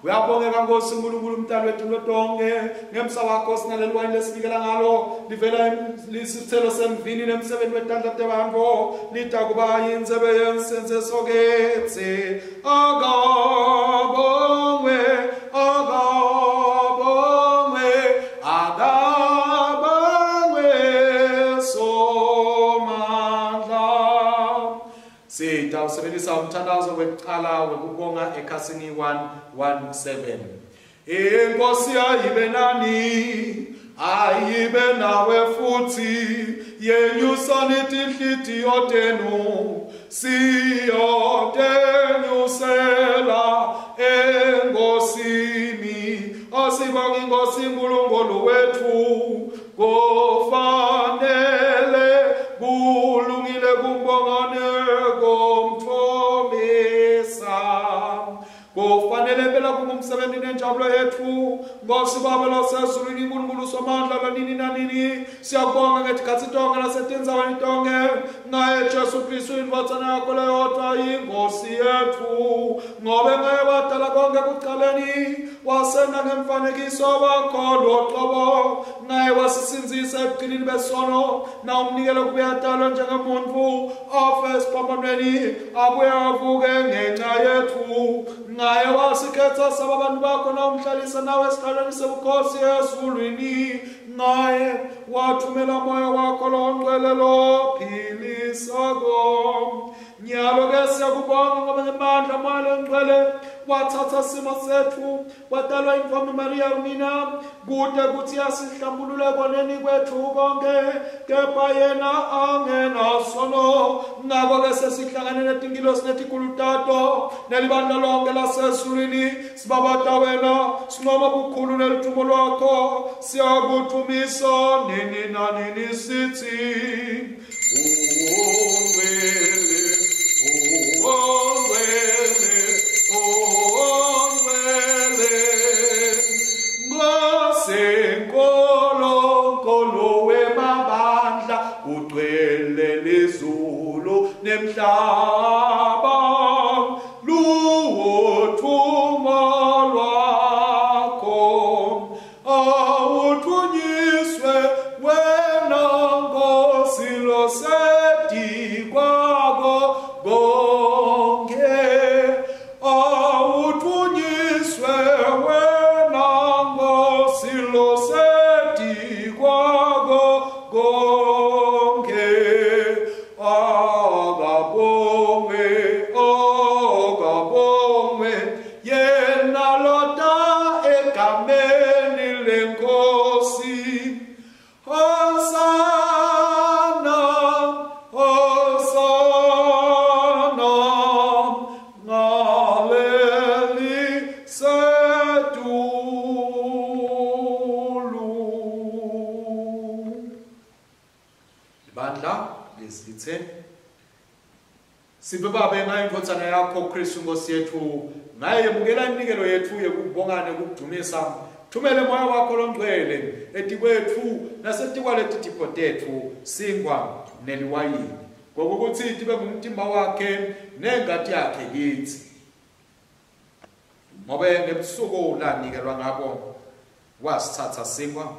Uyabongeka Nkosi uNkulunkulu umdali wethu into tonke, ngemsa wakho sinaleli wayini lesinikela ngalo livela lisithelo semvini nemsebenzi wetandla tebantu, litakuba yindzebe yensense soketsi. Akabongwe, akabongwe, akabongwe wekucala wekubonga ekhasini one one seven. Inkosi ayibe nani, ayibe nawe futhi, yenyusani tinhlitiyo tenu, siyotenyusela enkosini. Asibonge iNkosi uNkulunkulu wethu, kufanele kulungile kumbongane komthomisa. Kufanele phela kungumsebenzi nenjabulo yethu, Nkosi Baba lasezulwini, uNkulunkulu somandla lanini nanini. Siyabonga ngetikhatsi tonke nasetindzaweni tonke ngaye Jesu Kristu indvodzana yakho leyodvwa iNkosi yetfu, ngobe ngaye wadala konke ekucaleni, wasenda ngemfanekiso wakho loqobo, ngaye wasisindzisa ebugcinini besono, na umnikelo kube atalwe njengemuntfu, afe esiphambanweni, abuye avuke ngenxa yetfu. Ngaye wasikhetha saba abantu bakho, na umhlalisa nawe esihlalweni sebukhosi ezulwini. Ngaye wathumela moya wakho longcwele lophilisako. Nyalo ke siyakubonga ngoba ngemandla moya longcwele wathatha simo setfu, wadalwa intombi Maria unina, kute kutsi asihlambulule koneni kwetfu konke, kepha yena angenasono. Ngako ke sesihlangane netingilosi netikhulu tato nelibandla lonke lasezulwini, sibabata wena, sincoma bukhulu nelithumo lwakho, siyakudvumisa nini nanini sithi, Ungcwele, ungcwele, ungcwele, Nkosi Nkulunkulu wemabandla, ugcwele lizulu nemhlaba, luwuthumo lwakho, awuthunyiswe wena Nkosi losetikwako konke, awuthunyiswe wena Nkosi losetikwako konke. Akabongwe, akabongwe, yena lota egameni leNkosi. Hosana, Hosana, ngaleli setulu. Libandla lesithe Siphe Babe ngayo indvodzana yakho Kristu Nkosi yetfu, ngaye yemukela iminikelo yetfu yekubonga nekudumisa. Thumele moya wakho longcwele etikwetfu nasetikwaleti tipho tetfu, sinkwa neliwayini, ngokukuthi tibe ngumtimba wakhe nengati yakhe kitsi. Ngobe ngebusuku lanikelwa ngabo, wasithatha sinkwa,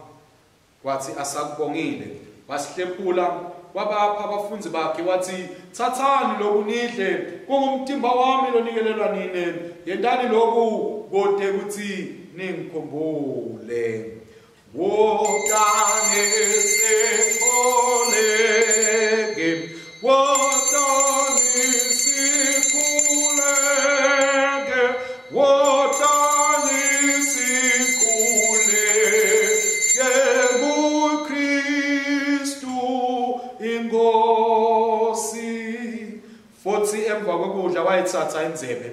wathi asakubongile, wasihlephula, wabapha abafundi bakhe, wathi, thathani lokhu nidle, kungumtimba wami lonikelelwa nine, yentani lokhu kute kutsi ningikhumbule. Wotani sikhuleke, wotani sikhuleke, wotani sikhuleke kuKristu iNkosi. Futhi emva kokudla wayithatha indzebe,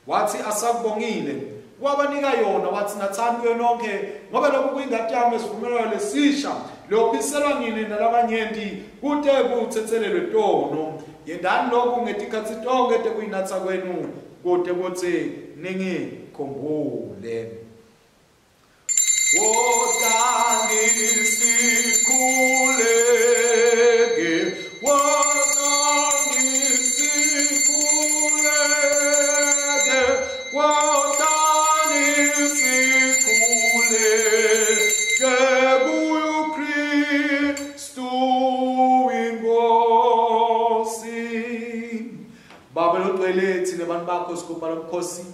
wathi asakubongile, wabanika yona, wathi nathani kuyo nonke, ngoba lokhu kuyingati yami esivumelwano lesisha, lophiselwa nini nalabanyenti kute kuthethelelwe tono. Yendani lokhu ngetikhatsi tonke tekuyinatsa kwenu, kute kutsi ningikhumbule. Wotani sikhuleke, wotani sikhuleke, wotani sikhuleke kuyo Kristu iNkosi. Baba longcwele, thina bantu bakho sigubha lomkhosi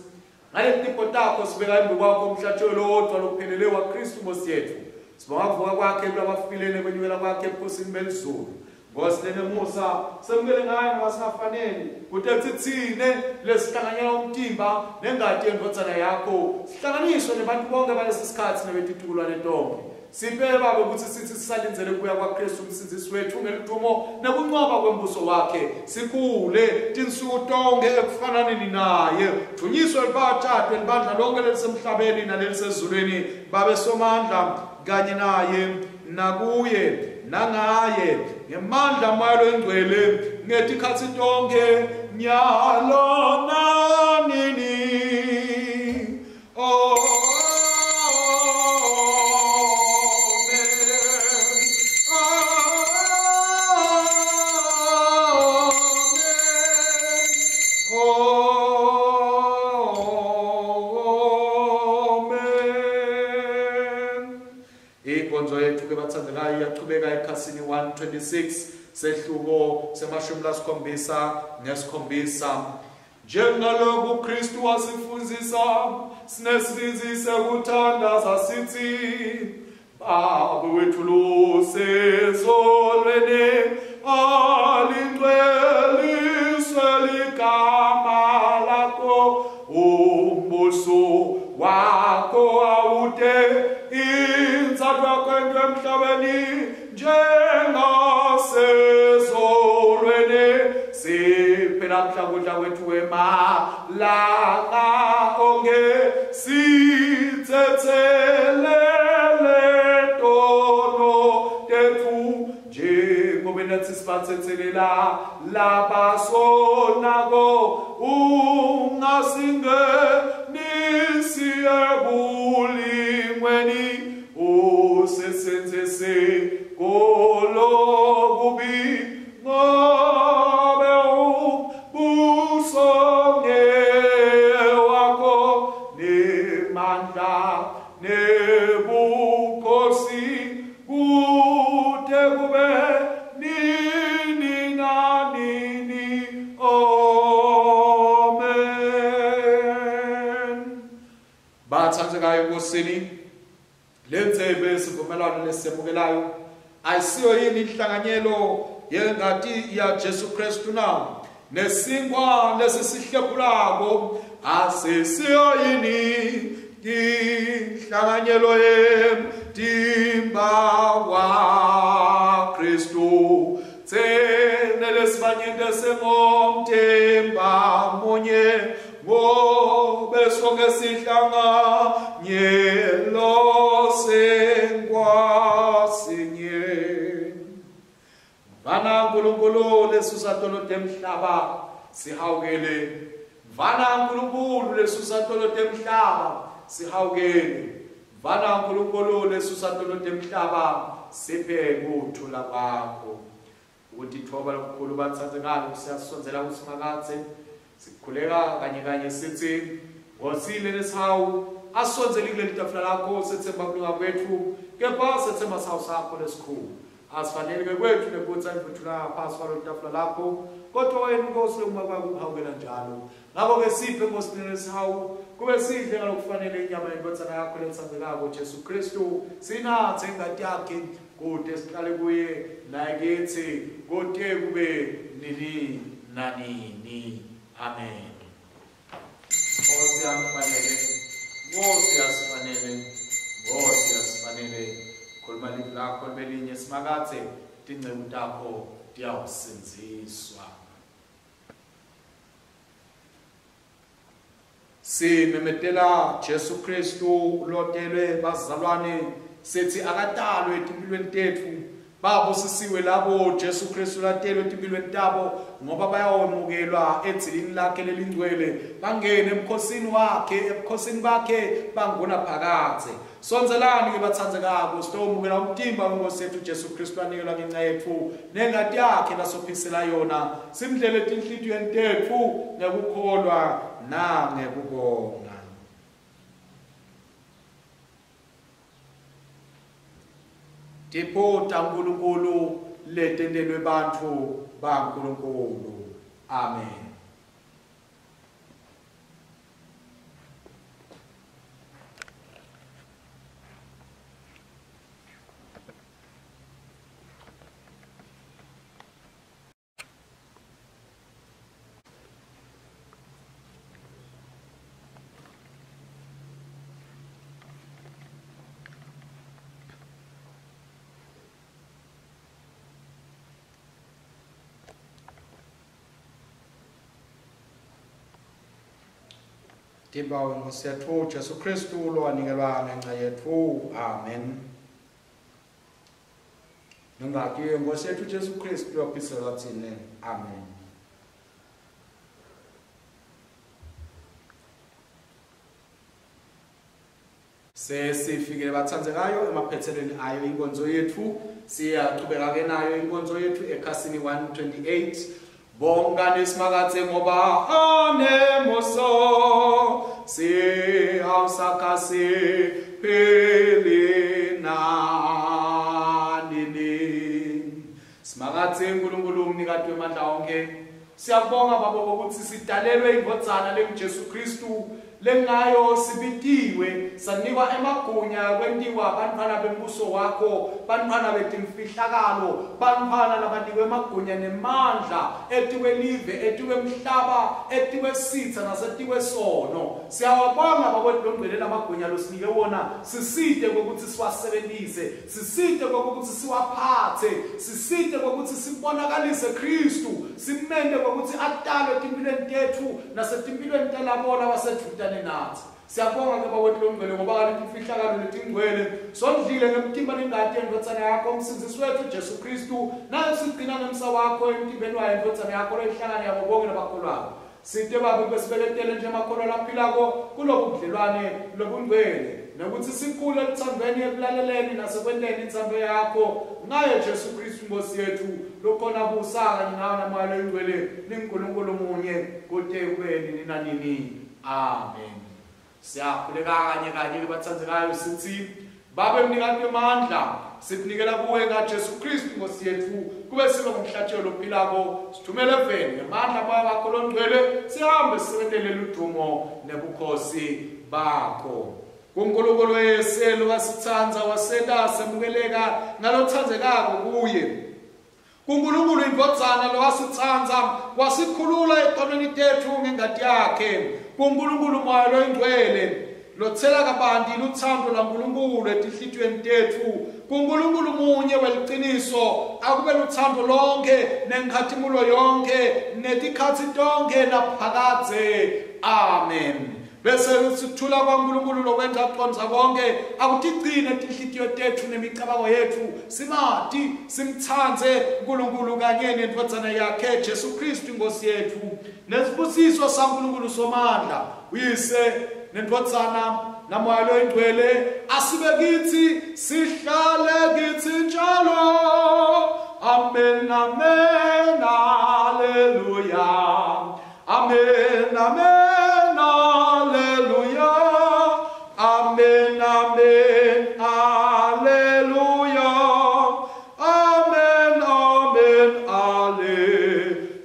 ngaleti tipho takho, sibeka embi kwakho umhlatshelo wodwa lophelele waKristu Nkosi yetfu. Sibonga kuvuka kwakhe kulabafile nekwenyukela kwakhe ebukhosini belizulu. Nkosi lenemusa semukele ngayo noma singafanele kute tsitsine lesihlanganyela umtimba nengati yendvodzana yakho sihlanganiswe nebantu bonke balesi sikhathi nebetitukulwane tonke. Siphe Baba ukuthi sithi sisalindzele kubuya kwaKristu umsindzisi wethu ngeludumo nekunqoba kwembuso wakhe sikhule tinsuku tonke ekufananeni naye. Thunyiswe libatshadwe libandla lonke lelisemhlabeni nalelisezulwini babe somandla kanye naye nakuye nangaye ngemandla moya longcwele ngetikhatsi tonke nyalo nanini. Oh. one twenty-six sehluko semashumi lasikhombisa nesikhombisa. Njengaloku Kristu wasifundzisa sinesibindzi sekuthandaza sithi Baba wethu losezulwini alingcweliswe ligama lakho umbuso wakho awute intsandvo yakho emhlabeni njengasezulwini. Siphe namhla kudla kwethu kwemalanga onke sithethelele tono tethu njengoba nathi sibathethelela labasonako ungasingenisi ebulingweni usisindise kolokubi ngobe umbuso ngewakho nemandla nebukhosi kute kube nini nanini. Amen. Bathandekayo eNkosini, lentsebe yesivumelwano lesemukelayo ayisiyo yini inhlanganyelo yengati ya Jesu Kristu na? Nesinkwa lesisihlephulako asisiyo yini inhlanganyelo yemtimba wa Kristu? Tsene lesibanyente sengomtimba munye ngobe sonke sihlanganyelo senkwa sinye. Vana Nkulunkulu lesusa tono temhlaba sihawukele. Vana Nkulunkulu lesusa tono temhlaba sihawukele. Vana Nkulunkulu lesusa tono temhlaba siphe kuthula kwakho. Ukutithoba lokukhulu bathandekayo siyasondzela kuSimakadze sikhuleka kanye kanye sithi Nkosile lesihawu asondzele kuleli tafula lakho sethemba kulunga kwethu kepha sethemba sawu sakho lesikhulu. Asifanele ke kwethu nekutsi imvuthula phasi kwalo tafula lakho kodwa wena Nkosi uma kwakuhawukela njalo. Ngakho-ke siphe Nkosi lesihawu kube sidle ngalokufanele inyama yendvodzana yakho letsandzekako Jesu Kristu sinathe ingati yakhe kude sihlale kuye naye kithi kude kube nini nanini. Amen. Nkosi yasifanele, Nkosi yasifanele, Nkosi yasifanele. Khuluma livi lakho libe linye Simakadze tinceku takho tiyawusindziswa. Simemetela Jesu Kristu lotelwe bazalwane sithi akatalwe etimpilweni tetfu. Babusisiwe labo Jesu Kristu latelwe etimpilweni tabo ngoba bayawemukelwa edzilini lakhe lelingcwele bangene emkhosini wakhe ebukhosini bakhe bangona phakadze. Sondzelani ke bathandzekako sitowumukela umtimba wenkosi yethu Jesu Kristu anikelwa ngenxa yetfu nengati yakhe lasophisela yona simdlele etinhlitiyweni tetfu ngekukholwa nangekubonga. Tipho taNkulunkulu letentelwe bantfu baNkulunkulu. Amen. Timba wenkosi yethu Jesu Kristu lowanikelwa ngenxa yethu. Amen. Nongati yenkosi yethu Jesu Kristu yophiselwa thina. Amen. Sesifikile bathanzekayo emaphethelweni ayo inkonzo yethu. Siyaqhubeka ke nayo inkonzo yethu ekhasini one twenty-eight. Bongani Simakadze ngoba anemusa, sihawusakasi pheli nanini. Simakadze uNkulunkulu umnikati wemandla onke, siyabonga baba ukuthi sidalelwe indvodzana lenguJesu Kristu, lengayo sibitiwe sanikwa emagunya kwentiwa bantfwana bembuso wakho, bantfwana betimfihlakalo, bantfwana labanikwe emagunya nemandla etikwelive, etikwemhlaba, etikwesitha nasetikwesono. Siyawabonga baba longcwele lamagunya losinike wona, sisite kokuthi siwasebenzise, sisite kokuthi siwaphathe, sisite kokuthi sibonakalise Kristu, simende kokuthi atalwe etimpilweni tethu nasetimpilweni talabo labasedvutane nathi. Siyabonga ke baba longcwele ngoba kaloku imfihlakalo letingcwele sondlile ngemtimba nengati yendvodzana yakho umsindzisi wethu Jesu Kristu, nayo sigcina ngemsa wakho emtimbeni wayo indvodzana yakho loyihlangane yabo bonke labakholwako. Site babe besibeketele nje emakholwa laphilako kulobu budlelwane lobungcwele, nokuthi sikhule eluthandweni, ekulaleleni nasekwenteni intsando yakho ngaye Jesu Kristu Nkosi yethu, lokhona busa kanye nawe naMoya loyiNgcwele, ninguNkulunkulu munye kute kube nini nanini. Amen. Siyakhuleka kanye kanye bathandzekayo sithi, Babe mnikati wemandla, sikunikela kuwe ngaJesu Kristu Nkosi yethu, kube sibe ngumhlatshelo ophilako, sithumele eveni ngemandla Moya wakho longcwele, sihambe sisebentele ludumo nebukhosi bakho. KuNkulunkulu weselu wasithandza wasenta semukeleka ngalothandzekako kuye. KuNkulunkulu indvodzana lowasithandza wasikhulula etonweni tethu ngengati yakhe. KuNkulunkulu Moya loyingcwele lothela kabanti luthando lwaNkulunkulu etinhlitiyweni tethu. KuNkulunkulu munye weliciniso akube luthando lonke nenkhatimulo yonke netikhatsi tonke naphakadze. Amen. Bese sithula kwaNkulunkulu lokwenza kuqondza konke akutigcine tinhlitiyo tethu nemicabango yethu, simati simthandze uNkulunkulu kanye nendvodzana yakhe Jesu Kristu Nkosi yethu. Nesibusiso saNkulunkulu somandla uyise nendvodzana naMoya loyingcwele asibe kithi, sihlale kithi njalo. Amen, amen, haleluya. Amen, amen, haleluya. Amen, amen, haleluya. Amen, amen, haleluya.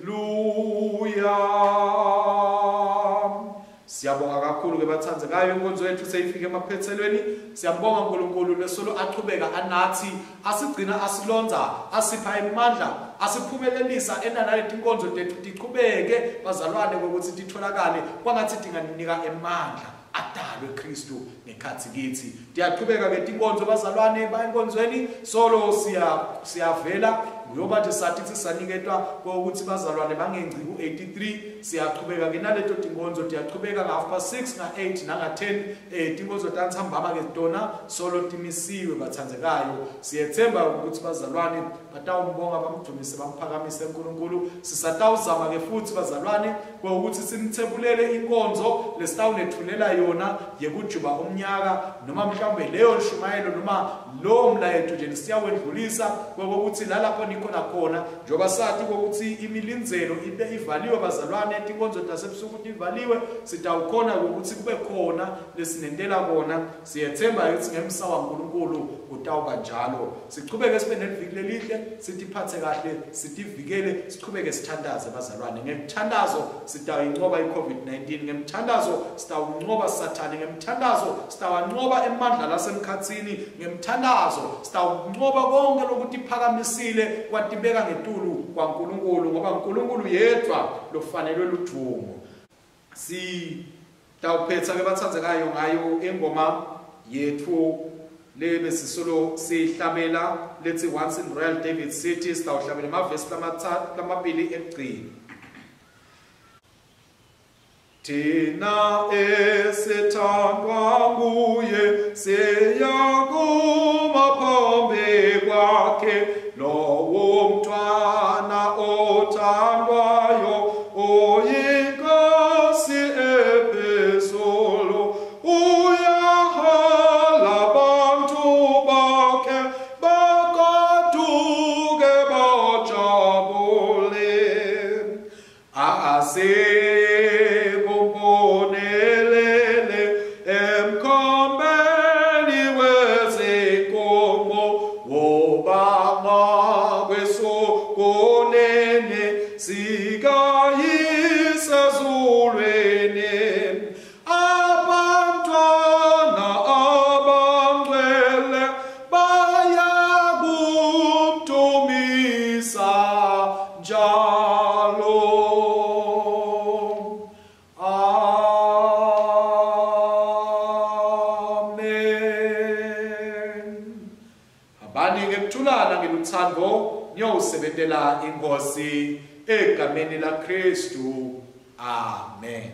Siyabonga kakhulu ke bathandzekayo, inkonzo yethu seyifike emaphethelweni. Siyabonga uNkulunkulu lesolo achubeka anathi, asigcina, asilonza, asipha imandla, asiphumelelisa ena naleti inkonzo tethu tichubeke bazalwane ngokuthi titholakale kwangathi tinganinika emandla adalwe Kristu ngekhathi kithi. Tiyachubeka ke tinkonzo bazalwane bayenkonzweni solo siya siyavela ngoba nje sathi sisaniketwa ukuthi bazalwane bangengci ku eighty-three. Siyachubeka ke naleto tinkonzo, tiyachubeka nga half past six nga eight nanga ten. Eh tinkonzo tantsambama ke tona solo timisiwe bathandzekayo. Siyethemba ukuthi bazalwane batawumbonga bamdumise bamphakamise uNkulunkulu. Sisatawuzama ke futhi bazalwane ukuthi simthebulele inkonzo lesitawunethulela yona yekujuba umnyaka, noma mhlawumbe leyo nshumayelo noma lo mlayeto nje siyawendlulisa kokuthi lalapho nikhona khona, njoba sathi kokuthi imilindzelo ibe ivaliwe bazalwane, tinkonzo tasebusuku tivaliwe, sitawukhona ukuthi kube khona lesinentela kona. Siyethemba ukuthi ngemsa waNkulunkulu kutawuba njalo. Sichubeke sibe neliviki lelihle, sitiphathe kahle, sitivikele, sichubeke sithandaze bazalwane. Ngemthandazo sitawuyinqoba i-COVID nineteen, ngemthandazo sitawunqoba Sathane, ngemthandazo sitawanqoba emandla lasemkhatsini, ngemthandazo sitawunqoba konke lokutiphakamisile kwatibeka ngetulu kwaNkulunkulu, ngoba uNkulunkulu yedwa lofanelwe ludumo. Sitawuphetha ke bathandzekayo ngayo ingoma yethu lebe sisolo sihlabela lethi Once in Royal David City. Sitawuhlabela emavesi lamathathu lamabili ekugcina. Thina esithandwa nguye siyakuma phambi kwakhe lowo mntwana othandwayo oyinkosi ephezulu uyahola abantu bakhe bakaduke bajabule asikumbonelele emkhombeni wezinkomo wobanga kwesokonene sikayisezulwini abantwana abangcwele bayakumdumisa njalo. Amen. Hambani ngekuthulana ngeluthando niyowusebentela inkosi egameni laKristu. Amen.